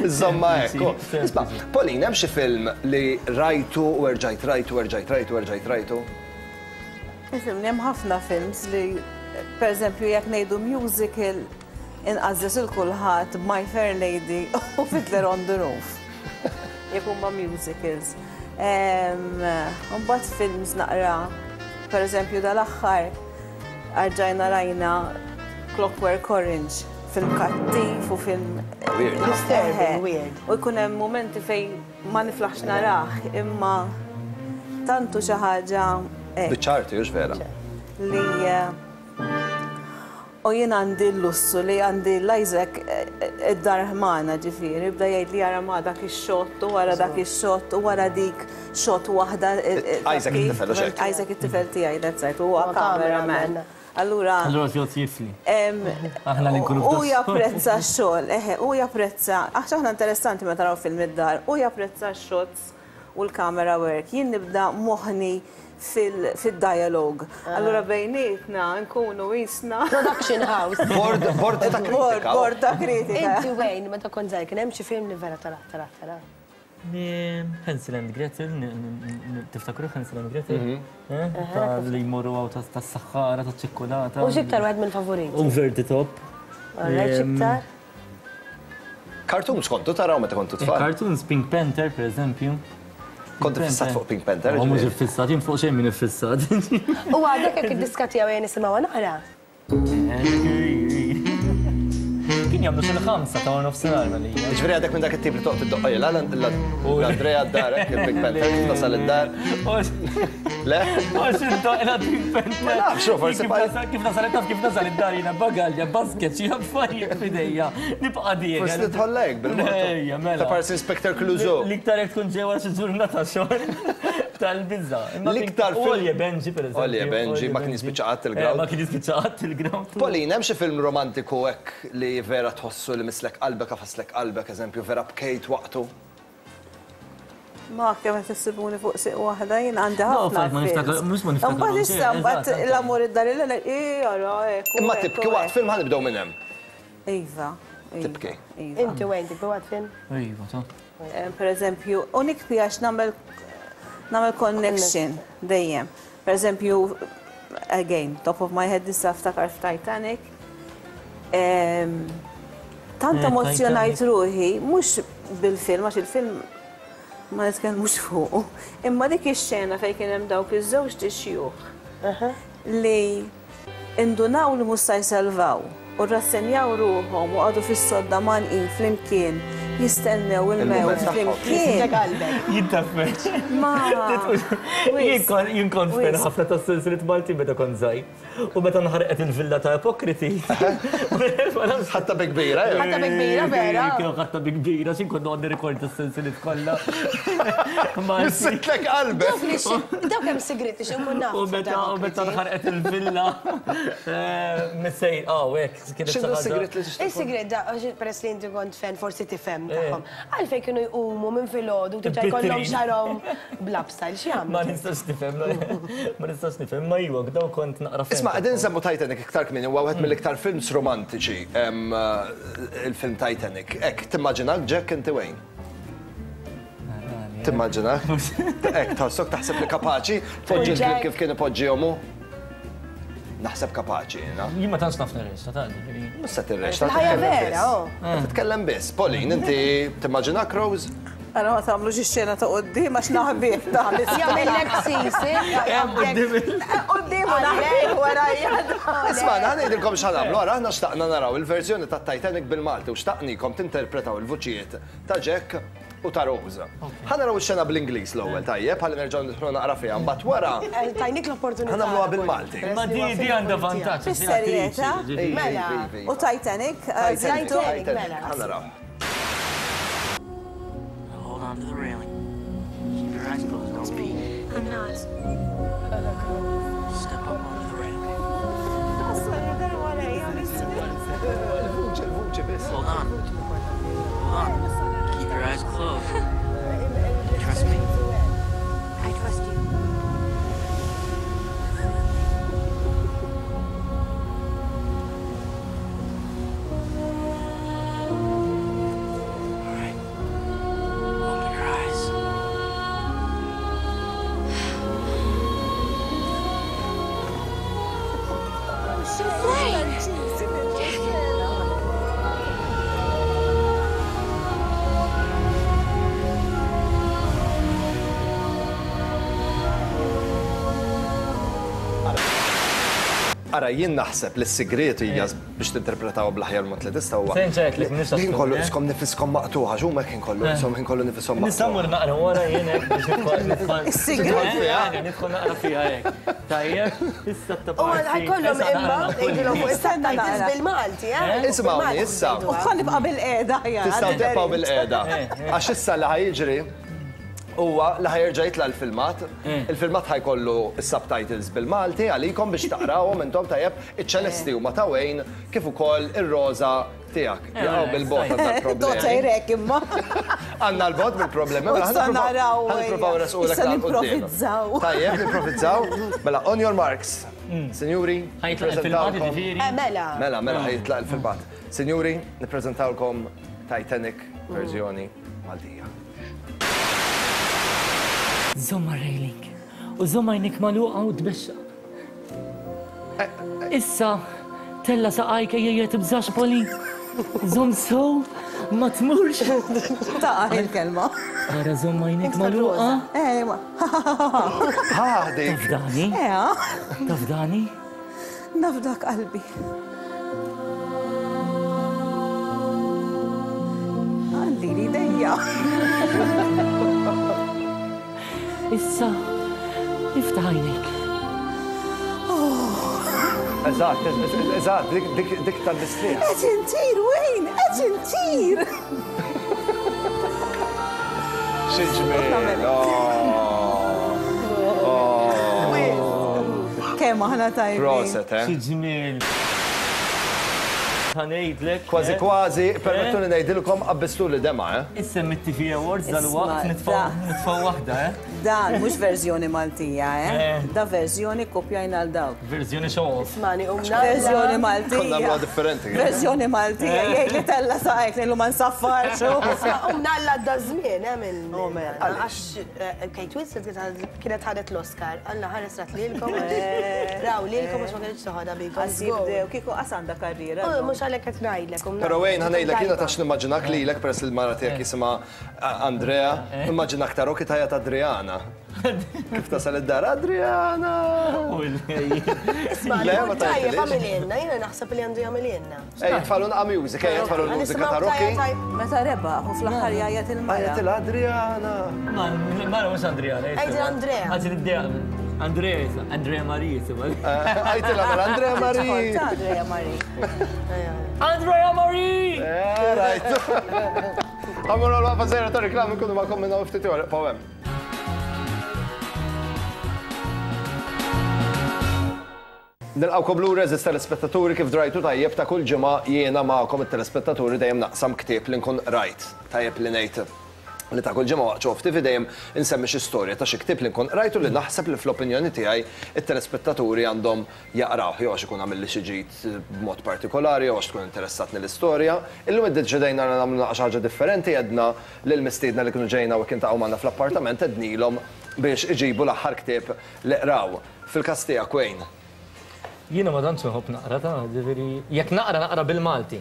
Insomma ekku. Isma', Pauline, hemm xi film li rajtu u erġajt rajtu u erġajt rajtu u erġajt rajtu? Film hemm ħafna films li pereżempju jekk ngħidu musical inqażżes il kulħadd My Fair Lady u Fiddler on the Roof. Jekk huma musicals. Mbagħad films naqra, pereżempju dal-aħħar arġajna rajna Clockwork Orange, film kattiv u film weird. Disturbing, weird. U jkun hemm momenti fejn ma niflaħx narah, imma tantu xi ħaġa biċ-ċarti, hux vera? Li u jien għandi l-lussu li għandi l-Isaac id-dar ħmana ġifieri, bda jgħid li jara ma dak ix-xott u wara dak ix-xott u wara dik xott waħda. Isaac it-tifel, u xek? Isaac it-tifel tiegħi, that's right, huwa cameraman. Allura. Allura tjod jifli. Aħna li nkunu U japprezza x-xogħol, eħe, u japprezza, għax aħna interessanti meta naraw film id-dar, u japprezza x-shots u l-camera work. Jien nibda moħni fil-dialog. Allura bejnietna nkunu jisna. Production house. Bord ta' kritika. Bord ta' kritika. Inti Wayne, meta kont żgħir kien hemm xi film li vera tara tara tara. Hansel and Gretel, tiftakru Hansel and Gretel? Ta' li jmorru għaw ta' s-saħħara, ta' ċikkulata. U xiktar wieħed mill-favoriti? Over the top. Alright, xiktar? Cartoons kontu taraw meta kontu tfal? Cartoons, Pink Panther, per eżempju. Kont fissat fuq Pink Panther? Ma mhux iffissat, jien fuq xejn min iffissat. U għadek jekk id-diska tiegħu jien nisimgħuha naqra. Kien jagħmlu xi ħamsa ta' nofsinhar malija. Jiġifieri għadek minn dak it-tip li toqgħod iddoqqa l-Andrea d-dar, il-Pink Panther, kif tasal id-dar. Le? Għax iddoqqa Pink Panther. Ma nafx, forsi kif nasal taf kif nasal id-dar jiena bagalja, basket, xi affarijiet f'idejja. Nibqa' dieħel. Forsi tidħollek bil-mod. Ejja, mela. Ta' parsi Inspector Clouseau. L-iktar jekk tkun ġewwa xi ġurnata xogħol tal-biża. L-iktar film. Olje Benji, per eżempju. Olje Benji, ma kien jispiċċa qatt il-ground. Ma kien jispiċċa qatt il-ground. Pauline, hemm xi film romantiku hekk li vera tħossu li mislek qalbek, għafaslek qalbek, eżempju, vera bkejt waqtu? Ma kemm qed issibuni fuq siq waħda jien għandi ħafna. Ma niftakar, mhux ma niftakar. Imbagħad issa mbagħad l-amur id-dar il ara hekk. Imma tibki waqt film ħa nibdew minn hemm. Iva. Tibki. Inti Wayne tibki waqt film? Iva, ta. Per eżempju, u nikbi għax nagħmel nagħmel connection dejjem. Per eżempju, again, top of my head issa ftakar f'Titanic. Tant emozjonajt ruħi, mhux bil-film, għax il-film ma nitkellmux fuq, imma dik ix-xena fejn kien hemm dawk iż-żewġ tixjuħ li indunaw li mhux se jsalvaw u rassenjaw ruħhom u qagħdu fis-sodda manqin flimkien jistennew il-mewt flimkien. Jittaffer. Ma. Jien kont fan ħafna tas-silsilet Malti meta kont żgħir. U meta nħarqet il-villa ta' Ipokriti. Ħatta bi kbira, jew? Ħatta bi kbira, vera. Kien ħatta bi kbira, x'in kont noqgħod nirrekord tas-silsilet kollha. Missitlek qalbek. Dawk hemm sigriti xi nkun naf. U meta u meta nħarqet il-villa. Missejn, ah, hekk. X'inhu s-sigrit li tixtieq? Is-sigrit da, peress li inti kont fan forsi tifhem tagħhom. Għalfejn kienu jqumu minn filgħodu tibda jkollhom xarhom bl-upstyle x'jagħmlu? Ma nistax nifhem, ma nistax nifhem, ma iwa, daw kont naqra fan. Isma' qegħdin nsemmu Titanic iktar kmieni, huwa wieħed mill-iktar films romantiċi, il-film Titanic. Hekk, timmaġinak Jack inti Wayne? Timmaġinak? Hekk, tħossok taħseb li kapaċi tpoġġi l-kliem kif kien ipoġġihom hu? Naħseb kapaċi, jiena. Jien ma tantx naf nirrexta, ta' ġifieri. Mhux se tirrexta, Il-ħajja titkellem vera, biss. oh. Titkellem biss. Pauline, inti timmaġinak Rose? Għana ma tagħmlux ix-xena ta' quddiem għax naħbih ta' Jagħmillek sisi. Quddiem u naħbih warajja. Isma' ħa ngħidilkom x'ħa nagħmlu, ara aħna xtaqna naraw il-verżjoni ta' Titanic bil-Malti u xtaqnikom tinterpretaw il-vuċijiet ta' Jack u ta' Rose. Ħa naraw ix-xena bl-Ingliż l-ewwel tajjeb, ħalli nerġgħu nidħlu naqra fiha, mbagħad wara Tajnik l-opportunità. ħa nagħmluha bil-Malti. Ma di di għandha vantaġġ. Fis-serjetà? Mela. U Titanic? Titanic, Titanic, ħa naraw. Hold on to the railing. Keep your eyes closed. Don't speak. I'm not. Step up onto the railing. Il-vuċi, il-vuċi biss. Hold on. Hold on. Keep your eyes closed. Trust me. I trust you. All right. Open your eyes. Ara, jien naħseb li s-sigriet hija biex tinterpretaw bl-aħjar mod li tista' huwa. Senġa li nista' Ħin kollu iskom nifiskom maqtuħa, x'huma kien kollu ishom ħin kollu nifisom Nista' mmur maqtuħa. naqra wara jien hekk biex nidħol nidħol. Is-sigriet. Nidħol naqra fiha hekk. Tajjeb, issa ta' U ħajkollhom imma ngħidilhom fuq is-subtitles bil-Malti, eh? Isimgħuni issa. U ħa nibqa' bil-qiegħda ħjar. Tistgħu tibqgħu bil-qiegħda. Għax issa li ħa jiġri huwa li ħa jerġa' jitla' l-filmat. Il-filmat ħa jkollu s-subtitles bil-Malti għalikom biex taqrawhom intom tajjeb iċ-ċelesti huma ta' Wayne kif ukoll ir-roża tiegħek. Jaqgħu bil-bot għandna Tota l-problemi. jrek imma. Għandna l-bot bil-problemi. U issa naraw, Ħa nippruvaw resqulek issa nimprovizzaw. Tajjeb, nimprovizzaw. Mela, on your marks. Sinjuri, Ħa jitlaq il-filmat nippreżentawlkom- jiġifieri. Eh, mela. Mela, mela ħa jitlaq il-filmat. Sinjuri, nippreżentawlkom Titanic verżjoni Maltija. Żomm railing. U żomm għajnek magħluqa u tbexxa. Issa, tella saqajk ejja tibżax Poli. Żomm sow, ma tmurx. Taqa' il-kelma. Ara żomm għajnek magħluqa. Eh, ma. Ha, dik. Tafdani, Eh, ah. tafdani. Nafdak qalbi. Għandi li dejja. Issa, iftaħ għajnek. Eżatt, eżatt, dik- dik dik tal-mistrieħ. Qed intir, Wayne, qed intir. Xi ġmiel. Oh. Kemm aħna tajbin. Proset, eh? Xi ġmiel. Ħa ngħidlek. Kważi eh? kważi, permettuni ngħidilkom qabbistu li dema, eh? Issa mit-T V Awards Isma' dal-waqt nitfgħu da. nitfgħu waħda, eh? Dan mhux verżjoni Maltija, eh? Eh. Da verżjoni kopjajna għal dawk. Verżjoni show off. Mani, u Verżjoni Maltija. Konna nagħmluha differenti. Verżjoni Maltija, jgħid li tella saqajk li ma nsaffarx. U mnalla da żmien, eh, minn. Għax eh, Kate Winslet kienet ħadet l-Oscar. Alla ħares rat lilkom. Raw lilkom għax ma kienx toħodha bikom. Għas jibdew, kieku qas għandha karriera. U mhux għalhekk qed ngħidlek. u Pero Wayne, ħa ngħidlek jiena tajba. tax nimmaġinak lilek peress li l-mara tiegħek jisimha Andrea, nimmaġinak ta' Rocky tajja ta' Adriana. Kif tasal id-dar Adriana! Isma' Le, ma li tajjeb tgħidilix. għamililna, jiena naħseb li għandu jagħmililna. Ej, tfalu nqa' music, ej, tfalu l-mużika ta' Rocky. Meta rebaħ u fl-aħħar jgħajjat il-mara. Għajat il-Adriana! Ma, ma mhux Andrea. Għajt Andrea. Għajt Andrea. Andrea, jisma', Andrea Marie, jisma'. Għajtilha mela Andrea Marie! Ta' Andrea Marie. Andrea Marie! Eh, Rajt. Għamur għal-wafa zera ta' reklami kunu ma' minna ftit ieħor, pawem. Nilqawkom lura eżis telespettaturi kif drajtu tajjeb ta' kull ġimgħa jiena magħkom it-telespettaturi dejjem naqsam ktieb li nkun rajt. Tajjeb li ngħid li ta' kull ġimgħa waqt Show Off T V dejjem insemmi xi storja ta' xi ktieb li nkun qrajtu li naħseb li fl-opinjoni tiegħi it-telespettaturi għandhom jaqrawh jew għax ikun għamilli xi ġid b'mod partikolari jew għax tkun interessatni l-istorja. Illum iddeċidejna li nagħmlu xi ħaġa differenti, għedna lil mistiedna li kienu ġejna u kien taqgħu magħna fl-appartament għednilhom biex iġibu l-aħħar ktieb li qraw. Fil-każ tiegħek Wayne. Jiena ma tantx nħobb naqra ta' ġifieri jekk naqra naqra bil-Malti.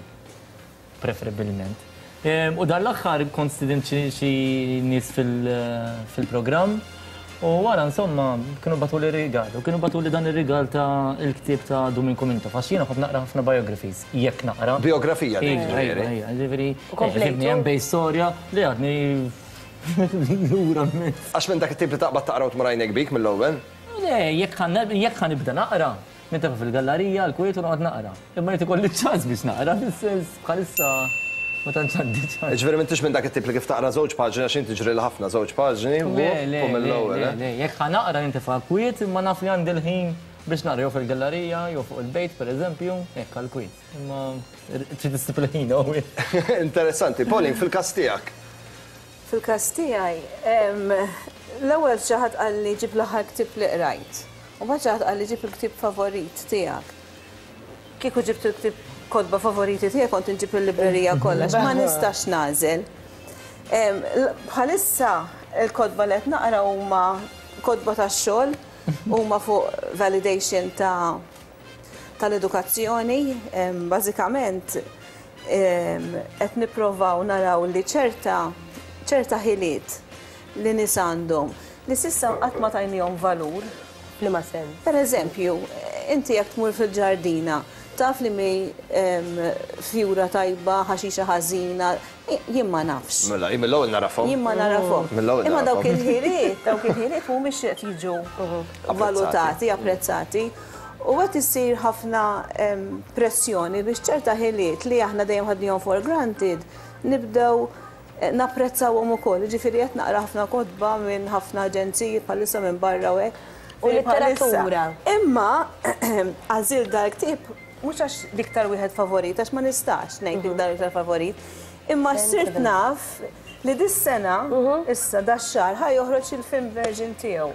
Preferibilment. U dan l-aħħar kont stidint xi nies fil-programm u wara insomma kienu bagħtuli rigal u kienu bagħtuli dan ir-rigal ta' il-ktieb ta' Duminku Mintoff għax jiena nħobb naqra ħafna biographies, jekk naqra. Biografija ġifieri. Ġifieri, ġibni hemm bej storja li għadni lura minn. Għax minn dak it-tip li taqbad taqra u tmur għajnek bik mill-ewwel? Le, jekk ħa nibda naqra, nintefa' fil-gallerija, l-kwiet u noqgħod naqra. Imma jrid ikolli ċans biex naqra, fis-sens bħalissa ma tantx għandi ċans. Ġifieri m'intix minn dak it-tip li kif taqra żewġ paġni għax inti ġri ħafna żewġ paġni u mill-ewwel. Le, jekk ħa naqra nintefa' kwiet imma naf li għandi l-ħin biex naqra jew fil-gallerija jew fuq il-bejt pereżempju, hekk għall-kwiet. Imma trid issib il-ħin Interessanti. Pauline, fil-każ tiegħek. Fil-każ tiegħi, l-ewwel xi ħadd qalli ġib l-aħħar ktieb li qrajt. U mbagħad xi ħadd qalli ġib il-ktieb favorit tiegħek. Kieku ġibt il-ktieb kotba favoriti tiegħek kont inġib il-librerija kollha, ma nistax nagħżel. Bħalissa il-kotba li qed naqra huma kotba tax-xogħol, huma fuq validation ta' tal-edukazzjoni, bażikament qed nipprovaw naraw li ċerta ċerta ħiliet li nies għandhom li s'issa qatt ma tajnihom valur. Liema sens? Per eżempju, inti jekk tmur fil-ġardina, taf li mi fjura tajba, ħaxixa ħażina, jien ma nafx. Mela, jien mill-ewwel narafhom. Jien ma narafhom. Imma dawk il-ħiliet, dawk il-ħiliet mhumiex qed jiġu valutati, apprezzati. U qed issir ħafna pressjoni biex ċerta ħiliet li aħna dejjem ħadnihom for granted nibdew napprezzawhom ukoll. Ġifieri qed naqra ħafna kotba minn ħafna aġenziji bħalissa minn barra u hekk. U letteratura. Imma għażil dal-ktieb mhux għax l-iktar wieħed favorit, għax ma nistax ngħid l-iktar iktar favorit, imma sirt naf li dis-sena, issa dax-xahar, ħa joħroġ il-film version tiegħu.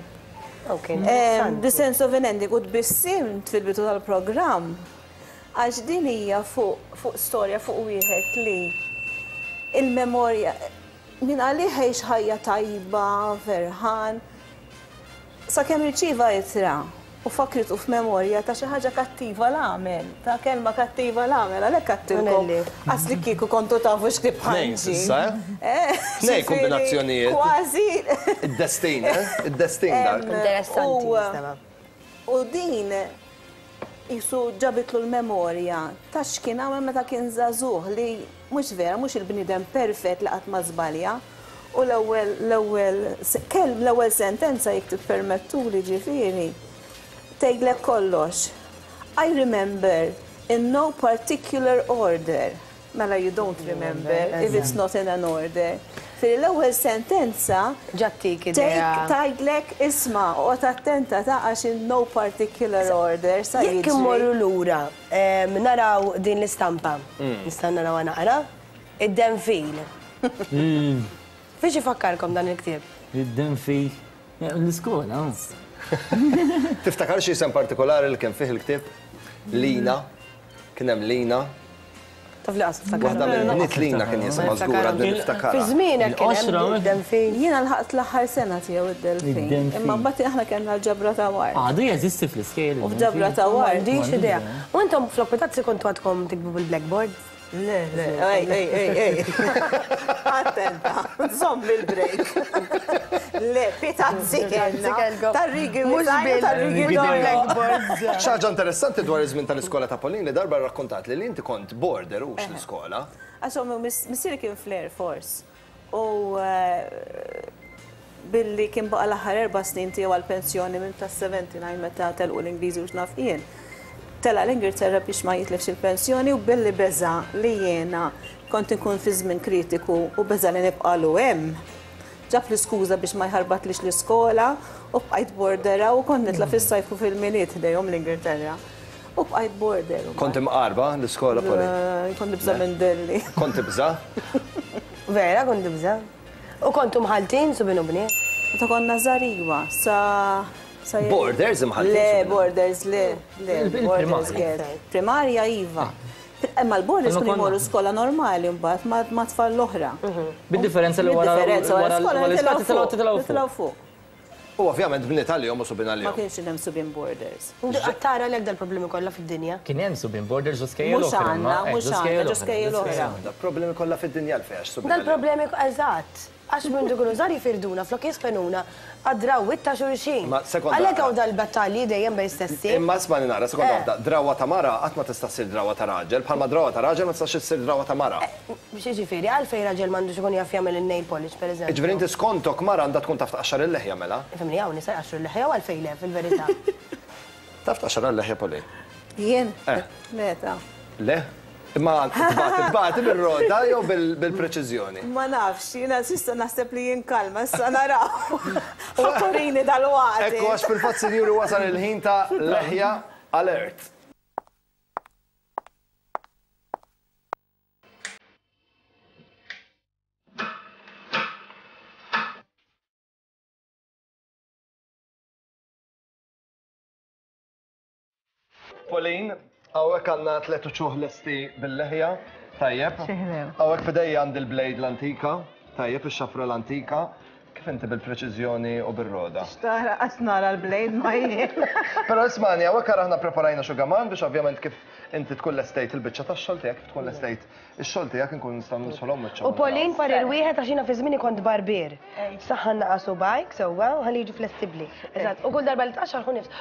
The Sense of an Ending, u tbissimt fil-bidu tal-programm, għax din hija fuq storja fuq wieħed li il-memorja minn għalih għex ħajja tajba, ferħan, sakemm irċieva ittra u fakritu f'memorja ta' xi ħaġa kattiva l-għamel, ta' kelma kattiva l-għamel, għalhekk għattilkom. Għasli kieku kontu tafu x'ktieb ħanġi. Tnejn kombinazzjonijiet. Kważi. Id-destin, eh? Id-destin dak. Interessanti. U din jisu ġabitlu l-memorja ta' x'kien għamel meta kien żagħżugħ li mhux vera, mhux il-bniedem perfett li qatt ma żbalja. U l-ewwel l-ewwel kelm l-ewwel sentenza jekk tippermettuli ġifieri tgħidlek kollox. I remember in no particular order. Mela you don't remember if it's not in an order. Fil l-ewwel sentenza ġattik idea. Tgħidlek isma' oqgħod attenta ta' għax in no particular order sa jiġri. Jekk immorru lura naraw din l-istampa. Nista' narawha naqra. Id-denfil. Fiex ifakkarkom dan il-ktieb? Id-denfil. L-iskola. Tiftakar xi isem partikolari li kien fih il-ktieb? Lina. Kien hemm Lina. Taf li qas niftakar. Waħda mill-bniet Lina kien jisimha żgur għadni niftakar. Fi żmienek kien hemm id-denfil. Jiena lħaqt l-aħħar sena tiegħu id-delfin. Imma mbagħad aħna kellna l-ġabra ta' war. Għadu jeżisti fl-iskejjel. U f'ġabra ta' war. M'għandix idea. U intom fl-okkutazzi kontu għadkom tikbu bil-blackboard? Le, le, ej, ej, ej, ej. Attenta, żomm il-break. Le, pitazzi kellna. Tar-rigi tar-rigi bil-blackboard. Xi ħaġa interessanti dwar iż-żmien tal-iskola ta' Pauline li darba rrakkontat li li inti kont border hux l-iskola. Għax ommi missieri kien fl-Air Force. U billi kien baqa' l-aħħar erba' snin tiegħu għall-pensjoni minn tas-seventy-nine meta telqu l-Ingliżi u x'naf jien. Tela l-Ingilterra biex ma jitlifx il-pensjoni u billi beża li jiena kont inkun fi żmien kritiku u beża li nibqalu hemm. Ġab l-iskuża biex ma jħarbatlix l-iskola u bqajt bordera u kont nitla' fis-sajf u fil-Milied ħdejhom l-Ingilterra. U bqajt border. Kont imqarba l-iskola, Pauline? Kont nibża' minn Delli. Kont tibża'? Vera, kont nibża'. U kontu mħaltin subin u bniet? Meta konna żgħar sa Borders imħaltin? Le, borders, le, le, borders get. Primarja iva. Imma l-borders kienu jmorru skola normali mbagħad ma' tfal l-oħra. Bid-differenza li wara l-iskola titilgħu fuq. U ovvjament bniet għalihom u subien Ma għalihom. kienx hemm subien boarders. Tara l dal-problemi kollha fid-dinja. Kien hemm subien borders u skejjel Mhux oħra. għandna, mhux għandna, ġo skejjel oħra. Da problemi kollha fid-dinja għalfejn għax subien għalihom. Dal-problemi eżatt. Għax minn dukunu żgħar jifirduna flok jispenuna għad-drawwiet ta' xulxin. Ma sekonda. Għalhekk hawn dal-battalji dejjem bejn stessi. Imma isma' nara, sekonda Eh. waħda, drawa ta' mara qatt ma tista' ssir drawa ta' raġel, bħalma drawa ta' raġel ma tistax issir drawa ta' mara. Biex jiġifieri, għalfejn raġel m'għandux ikun jaf jagħmel il-nail polish, pereżempju. Ġifieri inti skontok mara għandha tkun taf tqaxxar il-leħja mela. Ifhimni hawn nisa jqaxxru l-leħja u għalfejn le fil-verità. Taf tqaxxar il-leħja Poli? Jien? Eh. Meta? Le? Imma tbati, tbati bil-roda jew bil-preċiżjoni? Ma nafx, jiena s'issa naħseb li jien kalma, issa naraw. Ħaturini dal-waqt. Ekku, għax fil-fatt, sinjuri, wasal il-ħin ta' leħja alert. Pauline, hawnhekk għandna tliet uċuħ lesti bil-leħja, tajjeb. Hawnhekk f'idejja għandi l-blade l-antika, tajjeb, ix-xafra l-antika. Kif inti bil-preċiżjoni u bil-roda? Xtara, għax nara l-blade ma jien. Però ismani, hawnhekk aħna preparajna xugaman biex ovvjament kif inti tkun lestejt il-biċċa tax-xogħol tiegħek, kif tkun lestejt ix-xogħol tiegħek inkun nistgħu nidħolhom wiċċ. U Pauline parir wieħed għax jiena fi żmieni kont barbier. Saħħan naqasu bajk sewwa u ħalli jiġu flessibbli. Eżatt, u kull darba li tqaxxar ħu nifs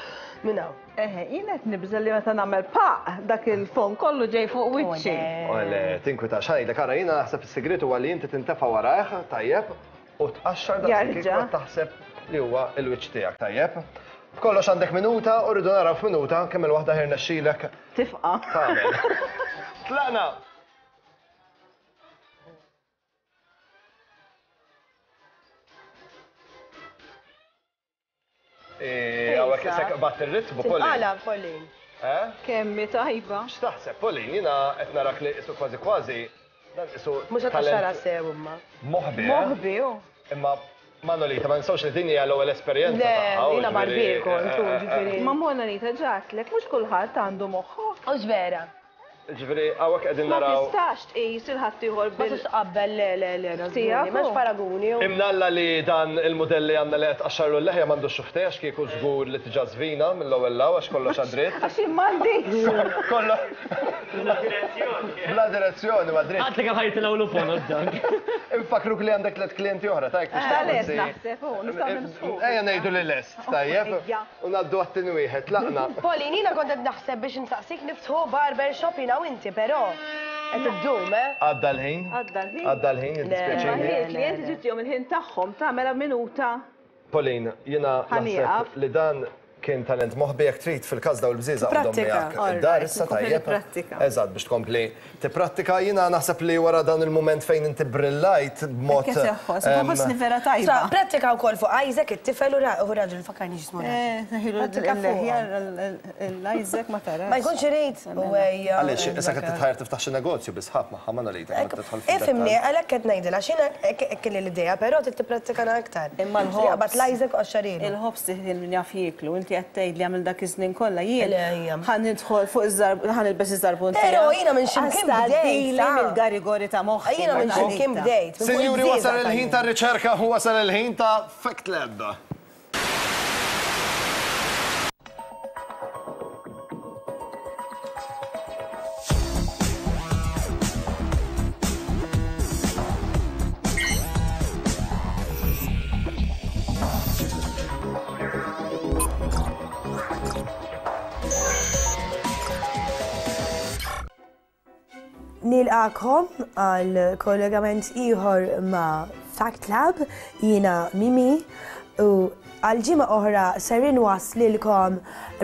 minn hawn. Eħe, jien qed nibża' li meta nagħmel paq dak il-fon kollu ġej fuq wiċċi. Ole, tinkwitax, ħajdek, ara jiena naħseb is-sigriet huwa li inti tintefa' warajh, tajjeb, u tqaxxar daqs kif Jarġa'. taħseb li huwa l-wiċċ tiegħek, tajjeb. B'kollox għandek minuta u rridu naraw f'minuta kemm il-waħda ħirnexxilek Tifqa'. tagħmel. Tlaqna! Eh, hawnhekk isek bat ir-ritmu, Pauline. Tinqala, Pauline. Eh? Kemmi tajba. X'taħseb, Pauline? Jiena qed narak li isu kważi kważi dan isu Mhux qed tqaxxarha talent sew imma. moħbi. eh? Moħbi, u. Imma Manolita, ma ninsawx li din hija l-ewwel esperjenza Le, tagħha. u jiena ġifieri, barbier kont, u eh, eh, ġifieri. Ma Mona Lita ġatlek, mhux kulħadd għandu moħħu. Hux vera. Ġifieri hawnhekk qegħdin Ma naraw. tistax tqis il-ħaddieħor Ma bil. tistax tqabbel le le le, Tiegħek, m'hemmx u. paraguni. u- Imnalla li dan il-modell li għandna li qed tqaxxarlu l-leħja m'għandux xuftej għax kieku żgur li tiġa żvina mill-ewwel law għax kollox għad-dritt. Għax jien m'għandix. Kollox. Bla direzzjoni ma dritt. Għatli kemm ħajtilgħu l-fon dak. Infakruk li għandek tliet klijenti oħra, tajk biex Eh, lest forsi- naħseb, u nistgħu nimsħu. Ejja ngħidu li lest, tajjeb. Ejja. U ngħaddu għat-tieni wieħed, tlaqna. Pauline, jiena kont qed naħseb biex insaqsik niftħu barber shop jiena u inti, però qed iddum, eh? Għadda l-ħin. Għadda l-ħin. Għadda l-ħin, jiddispjaċini. Ma il-klijenti ġittihom il-ħin tagħhom tagħmel minuta. Pauline, jiena naħseb Ħanieqaf. li dan kien talent moħbi jekk trid fil-każ daw il-bżieżaq għandhom Prattika. miegħek All id-dar right, issa nkompli tajjeb. nipprattika. Eżatt, biex tkompli tipprattika. Jiena naħseb li wara dan il-mument fejn inti brillajt b'mod. Kif teħħos, em, ħossni vera Sa, tajba. prattika wkoll fuq Isaac it-tifel u ra- u raġel fakkarni x'ismu raġel. Eh, ħilu Prattika l-leħja fuqha. l-Isaac ma tarax. Ma jkunx irid. U ejja. Għaliex, issa qed titħajr tiftaħ xi negozju bi sħab magħha Manolita, kemm qed tidħol fid-dettall. Ifhimni, għalhekk qed ngħidilha x'jiena hekk kelli l-idea, però trid tipprattikana aktar. Imma l-ħobż. Qabad l-Isaac u qaxxarilu. Il-ħobż tiħdil min jaf jieklu, inti qed tgħid li għamil dak iż-żnien kollha jien. Le, ejja. Ħa nidħol fuq iż-żarb, ħa nilbes iż-żarbun Però jiena minn x'imkien bdejt, sa. mill-garigori ta' moħħi. Jiena minn x'imkien bdejt. minn fuq Sinjuri, il-bżieżaq wasal il-ħin tajjeb. tar-riċerka u wasal il-ħin ta' Fact Lab. Nilqakom għal kollegament ieħor ma' Fact Lab, jiena Mimi, u għal ġimgħa oħra ser inwaslilkom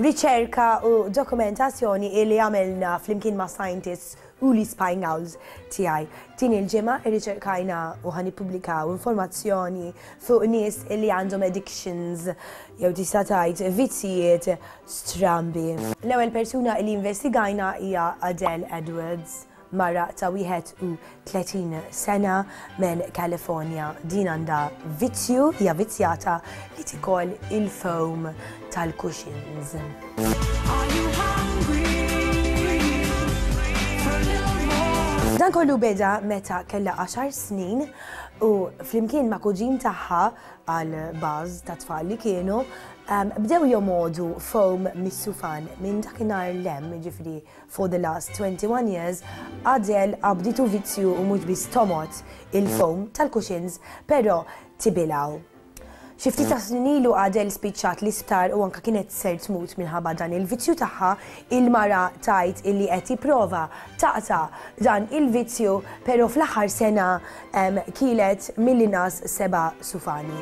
riċerka u dokumentazzjoni li għamilna flimkien ma' scientists u li Spying Owls tiegħi. Din il-ġimgħa irriċerkajna u ħa nippubblikaw informazzjoni fuq nies li għandhom addictions jew tista' tgħid vizzijiet strambi. L-ewwel persuna li investigajna hija Adele Edwards, mara ta' wieħed u tletin sena minn California. Din għandha vizzju, hija vizzjata li tikol il-foam tal-cushions. Dan kollu beda meta kellha għaxar snin U flimkien ma' kuġin tagħha għal baż ta' tfal li kienu, bdew jomodu foam mis-sufan minn dakinhar lem, jiġifieri for the last twenty-one years, Adele qabditu vizzju u mhux biss tomot il-foam tal-cushions, però tibilgħu. Xi ftit ta' snin ilu Adele spiċċat l-isptar u anka kienet ser tmut minħabba dan il-vizzju tagħha, il-mara tajt illi qed tipprova taqta' dan il-vizzju, però fl-aħħar sena kielet mill-inqas seba' sufani.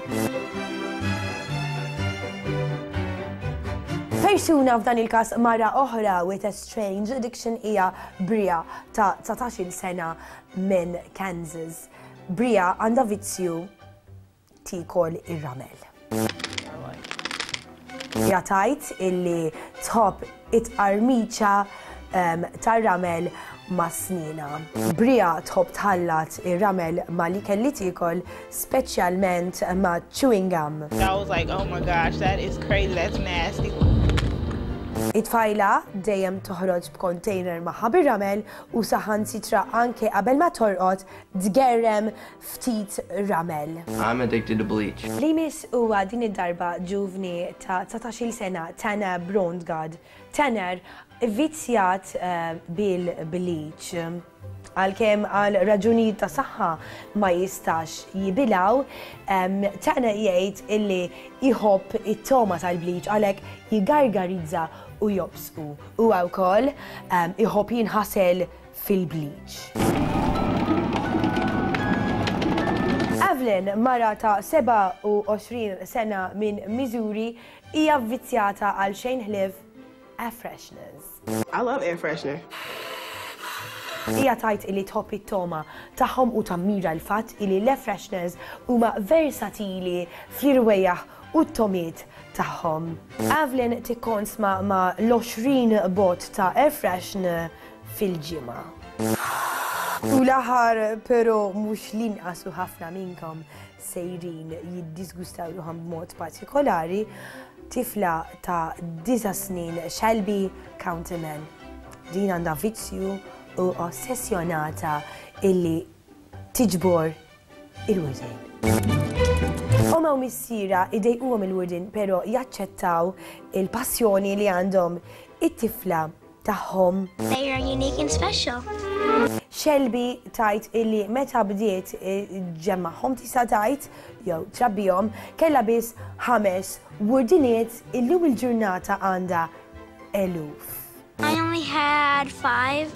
Persuna f'dan il-każ mara oħra with a strange addiction hija Bria ta' dsatax-il sena minn Kansas. Bria għandha vizzju tikol ir-ramel. Hija tgħid illi tħobb it-qarmiċa tar-ramel ma' snina. Bria tħobb tħallat ir-ramel ma' li kelli tikol, speċjalment ma' chewing gum. I was like, oh my gosh, that is crazy, that's nasty. It-tfajla dejjem toħroġ b'container magħha bir-ramel u saħansitra anke qabel ma torqod tgerrem ftit ramel. I'm addicted to bleach. Li miss huwa din id-darba ġuvni ta' dsatax-il sena, Tanner Brondgard. Tanner vizzjat bil-bleach. Għalkemm għal raġunijiet ta' saħħa ma jistax jibilaw, Tanner jgħid illi jħobb it-toma tal-bleach għalhekk jigargarizza u jobsqu. Huwa wkoll iħobb jinħasel fil-bleach. Evelyn, mara ta' sebgħa u għoxrin sena minn Missouri, hija vizzjata għal xejn ħlief air fresheners. I love air freshener. Hija tgħid illi tħobb it-toma tagħhom u tammira l-fatt illi l-air fresheners huma versatili fl-irwejjaħ u t-tomiet tagħhom. Evelyn tikkonsma ma' l-għoxrin bot ta' air freshener fil-ġimgħa. U l-aħħar però mhux l-inqas u ħafna minnkom sejrin jiddisgustaw ruħhom b'mod partikolari, tifla ta' disa' snin Shelby Counterman. Din għandha vizzju u ossessjonata illi tiġbor il-wirdin. Oma u missiera idejquhom il-wirdin, però jaċċettaw il-passjoni li għandhom it-tifla tagħhom. They are unique and special. Shelby tajt illi meta bdiet ġemmagħhom tista' tgħid jew trabbihom kellha biss ħames wurdiniet, illum il-ġurnata għandha eluf. I only had five,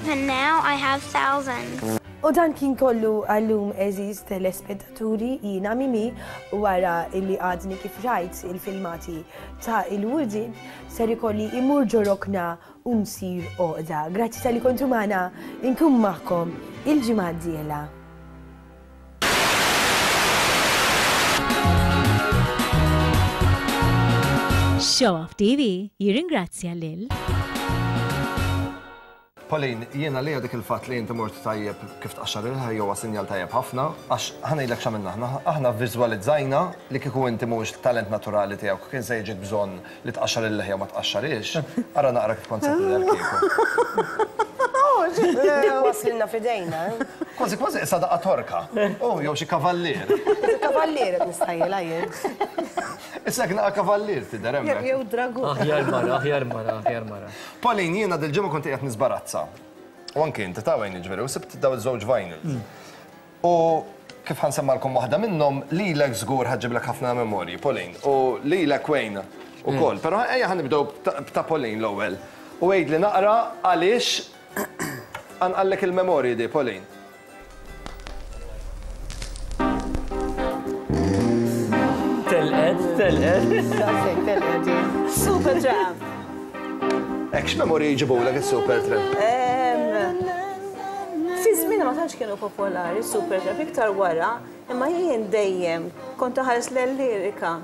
and now I have thousands. U dan kien kollu għallum eżiż telespettaturi, jiena Mimi, wara illi għadni kif rajt il-filmati ta' il-wurdin, ser ikolli imur ġo rokna u nsir għoqda. Grazzi tal-li kontu magħna, inkun magħkom il-ġimgħa d-dieħla. Show Off T V jirringrazzja lil Pauline, jiena li dik il-fatt li inti mort tajjeb kif tqaxxar il-ħajja huwa sinjal tajjeb ħafna, għax ħa ngħidlek x'għamilna aħna. Aħna vviżwalizzajna li kieku inti mhuwiex talent naturali tiegħek, kien se jiġik bżonn li tqaxxar il-leħja ma tqaxxarix, ara naqra kif kont se tidher kieku. Waslilna f'idejna. Kważi kważi issa daqqa torka. Oh, jew xi kavallier. Kavallier qed nistajjel jien. Issa naqa kavallier tidher hemmhekk. Jew dragun. Aħjar mara, aħjar mara, aħjar mara. Pauline, jiena dil-ġimgħa kont qiegħed nisbarazza. U anke inti ta' wejn jiġifieri, u sibt daw iż-żewġ vinyls. U kif ħansemmalkom waħda minnhom, lilek żgur ħaġġiblek ħafna memorji, Pauline, u lilek Wayne ukoll. Però ejja ħanibdew b'ta' Pauline l-ewwel. U għidli naqra għaliex għanqallek il-memorji di, Pauline. Telqet, telqet. Daqshekk telqet. Super Tramp. Hekk x'memorji jġibulek is-Super Tramp? Fi żmien ma tantx kienu popolari Super Tramp, iktar wara, imma jien dejjem kont ħares l-lirika,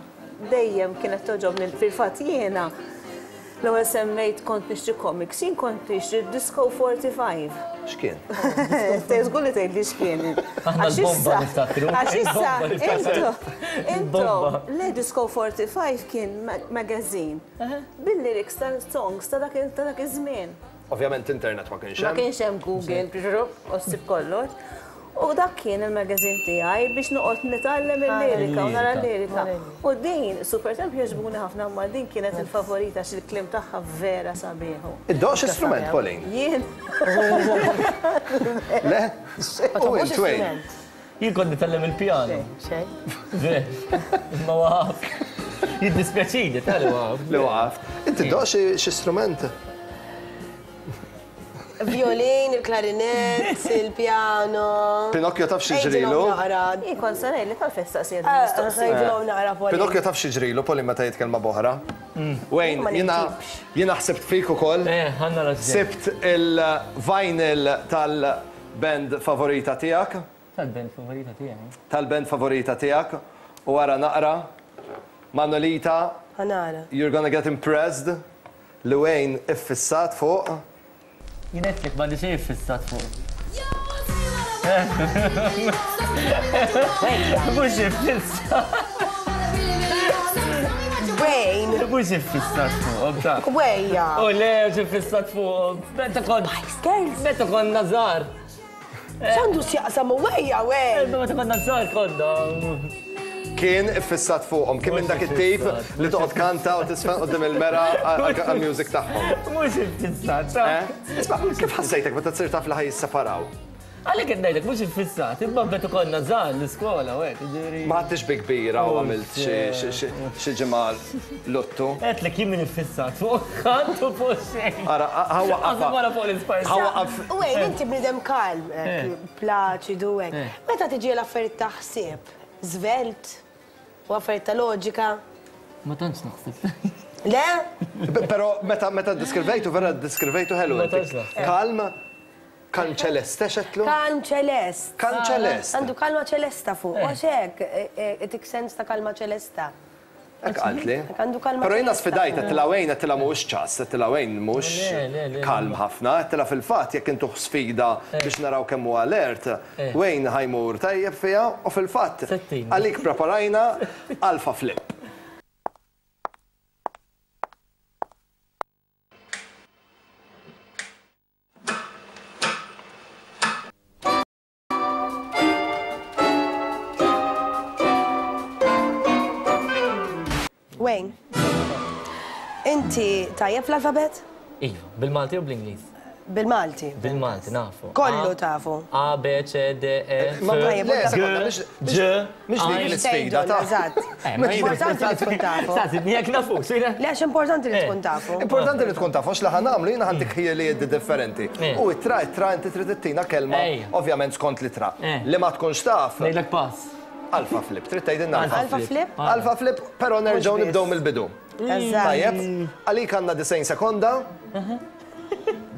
dejjem kienet toġobni fil-fatt jiena. L-ewwel semmejt kont nixtri comics, jien kont nixtri Disco forty-five. X'kien? Żgur li tgħidli x'kien. Aħna l-bomba niftakru. Għax issa, intu, intu, le Disco forty-five kien magazine bil-lyrics tal-songs ta' dak iż-żmien. Ovvjament internet ma kienx Ma hemm. kienx hemm Google, u ssib kollox. U dak kien il-magazine tiegħi biex noqgħod nitgħallem il-lirika u nara l-lirika. U din Supertramp jogħġbuni ħafna, ma din kienet il-favorita għax il-kliem tagħha vera sabiħu. Iddoqx istrument, Pauline? Jien. Le? U int Wayne? Jien kont nitgħallem il-pjano. Xejn. Ma waqaf. Jiddispjaċini, tal waqaf. Li waqaf. Inti ddoqx xi strument? Violin, il-klarinett, il-pjano. Pinocchio taf xi ġrilu? Jien kont se ngħidlek għalfejn staqsija din mistoqsija. Għidilhom naqra, Pauline. Pinocchio taf xi ġrilu, Pauline, meta jitkellem ma' boħra. Wayne, jiena jiena ħsibt fik ukoll. Eh, ħanna raġun. Sibt il-vinyl tal-band favorita tiegħek. Tal-band favorita tiegħi. Tal-band favorita tiegħek. U wara naqra Manolita. Ħanara. You're gonna get impressed. Li Wayne iffissat fuq. Jien għedtlek m'għandi xejn iffissat fuq. Mhux iffissat. Wayne. Mhux iffissat fuq, ta' Wejja. U le, mhux iffissat fuq. Meta kont. Girls. Meta konna żgħar. X'għandu x'jaqsam wejja, Wayne? Meta konna żgħar konna. Kien iffissat fuqhom, kien minn dak it-tip li toqgħod kanta u tisfen quddiem il-mera għall-music tagħhom. Mhux iffissat. Isma', kif ħassejtek meta tsir taf li ħaj jisseparaw? Għalhekk qed ngħidlek mhux iffissat, imma meta konna żgħar l-iskola u hekk, jiġifieri. Ma ħadtix bi kbira u għamilt xi ġimgħa luttu. Għedtlek jien min iffissat fuq ħadd u fuq xejn. Ara, ħa Għażel wara fuq l-Spice. Ħa waqaf. Wayne, inti bniedem kalm, plaċidu hekk. Meta tiġi l-affarijiet ta' ħsieb, żvelt u affarijiet ta' loġika. Ma tantx naħseb. Le? Però meta meta ddiskrivejtu vera ddiskrivejtu ħelu. Ma tantx naħseb. Kalm, kalm ċeleste xetlu? Kalm ċelest. Kalm ċelest. Għandu kalma ċelesta fuq. Għax hekk, itik sens ta' kalma ċelesta. Hekk qaltli. Hekk għandu kalma Però jiena ċelesta. sfidajt, għedtilha Wayne, għedtilha mhuwiex ċass, għedtilha Wayne mhux Le, le, le, kalm ħafna, għedtilha fil-fatt jekk intuh sfida biex naraw kemm hu alert, Wayne ħajmur tajjeb fiha u fil-fatt Settin. għalik preparajna alfa flip. Wayne, inti tajjeb fl-alfabet? Iva, bil-Malti u bl-Ingliż? Bil-Malti. Bil-Malti, nafu. Kollu A, tafu. A, B, C, D, E, F, Ma Tajjeb, le, u sekonda, G, mhix- Ġ, mhix dik I. l-isfida ta' Eżatt. Eh, ma jien- Importanti li tkun tafu. Saqsitni jekk nafu, xejna? Le, għax importanti li tkun tafu. Importanti li tkun tafu, għax li ħa nagħmlu jiena ħantik ħjieliet differenti. Eh. U it-tra, it-tra inti trid ittina kelma, Ejja. ovvjament skont li tra. Eh. Li ma tkunx taf. Ngħidlek pass. Alfa flip, trid tgħidilna alfa. Alfa flip? Alfa flip, però nerġgħu biss. nibdew mill-bidu. Eżatt. Tajjeb, għalik għandna disgħin sekonda.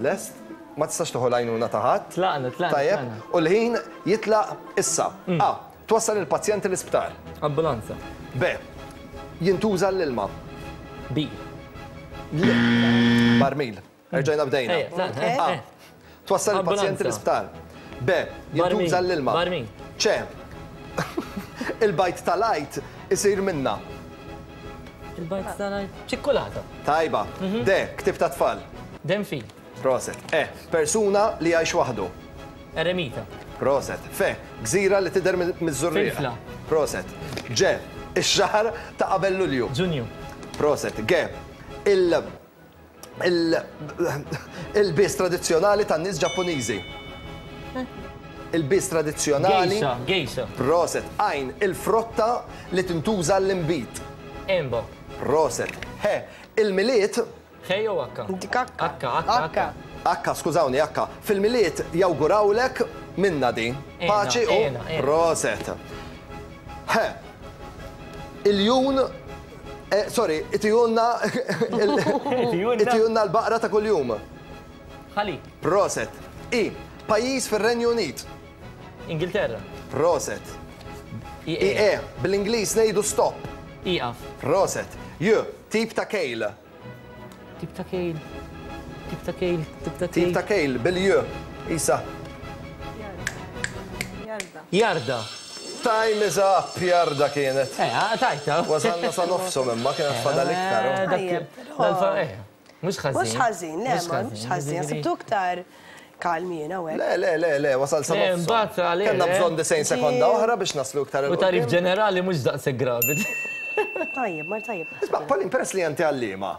Lest, ma tistax tieħu l-għajnuna ta' ħadd. Tlaqna, tlaqna, Tajjeb, tlaqna. u l-ħin jitlaq issa. A, twassal il-pazjenti l-isptar. Ambulanza. B, jintuża l-ilma. B. L. Barmil. Erġajna bdejna. Ejja, tlaqna, eh, A, eh. twassal il-pazjenti Ambulanza. l-isptar. B, jintuża Barmil. l-ilma. Barmil. C, il-bajt tal-għajt isir minna. Il-bajt tal-għajt. Ċikkulata. Tajba. Mhm. D, ktib ta' tfal. Denfil. Proset. E, persuna li jgħix waħdu. Eremita. Proset. F, gżira li tidher miż-żurrieq. Filfla. Proset. G, ix-xahar ta' qabel Lulju. Ġunju. Proset. G, il il il-bis tradizzjonali tan-nies Ġappuniżi. Il-bis tradizzjonali. Gejxa, gejxa. Proset. Għajn, il-frotta li tintuża l-imbit. Embo. Proset. He, il-Milied. Ħej jew akka? Dik akka. Akka, akka, akka. Akka, skużawni, akka. Fil-Milied jawgurawlek minna din. Ena, Paċi u ena, ena. proset. He, il-jun, eh, sorry, itijunna, Itijunna. itijunna l-baqra ta' kuljum. Ħalib. Proset. I, pajjiż fir-Renju Unit. Ingilterra. Proset. I, I, E, bl-Ingliż ngħidu stop. Iqaf. Proset. J, tip ta' kejl. Tip ta' kejl. Tip ta' kejl, tip ta' Tip kejl. ta' kejl, bil-J. Isa. Jarda. Jarda. Time is up, jarda kienet. Eh, ah, tajta. Wasalna sa nofsom imma kienet fadal iktar. Eh, dak- Tajjeb, però- dal-fa- eh, Mhux ħażin. Mhux ħażin, le, ma mhux ħażin. Sibtu iktar Kalmi jiena u hekk. Le, le, le, le, wasal sa Le, nofsu. mbagħad għalih, Kellna eh. bżonn disgħin sekonda oħra biex naslu iktar U tarif ġenerali mhux daqshekk gravi. Tajjeb, mar tajjeb. Isma', Pauline, peress li inti għalliema.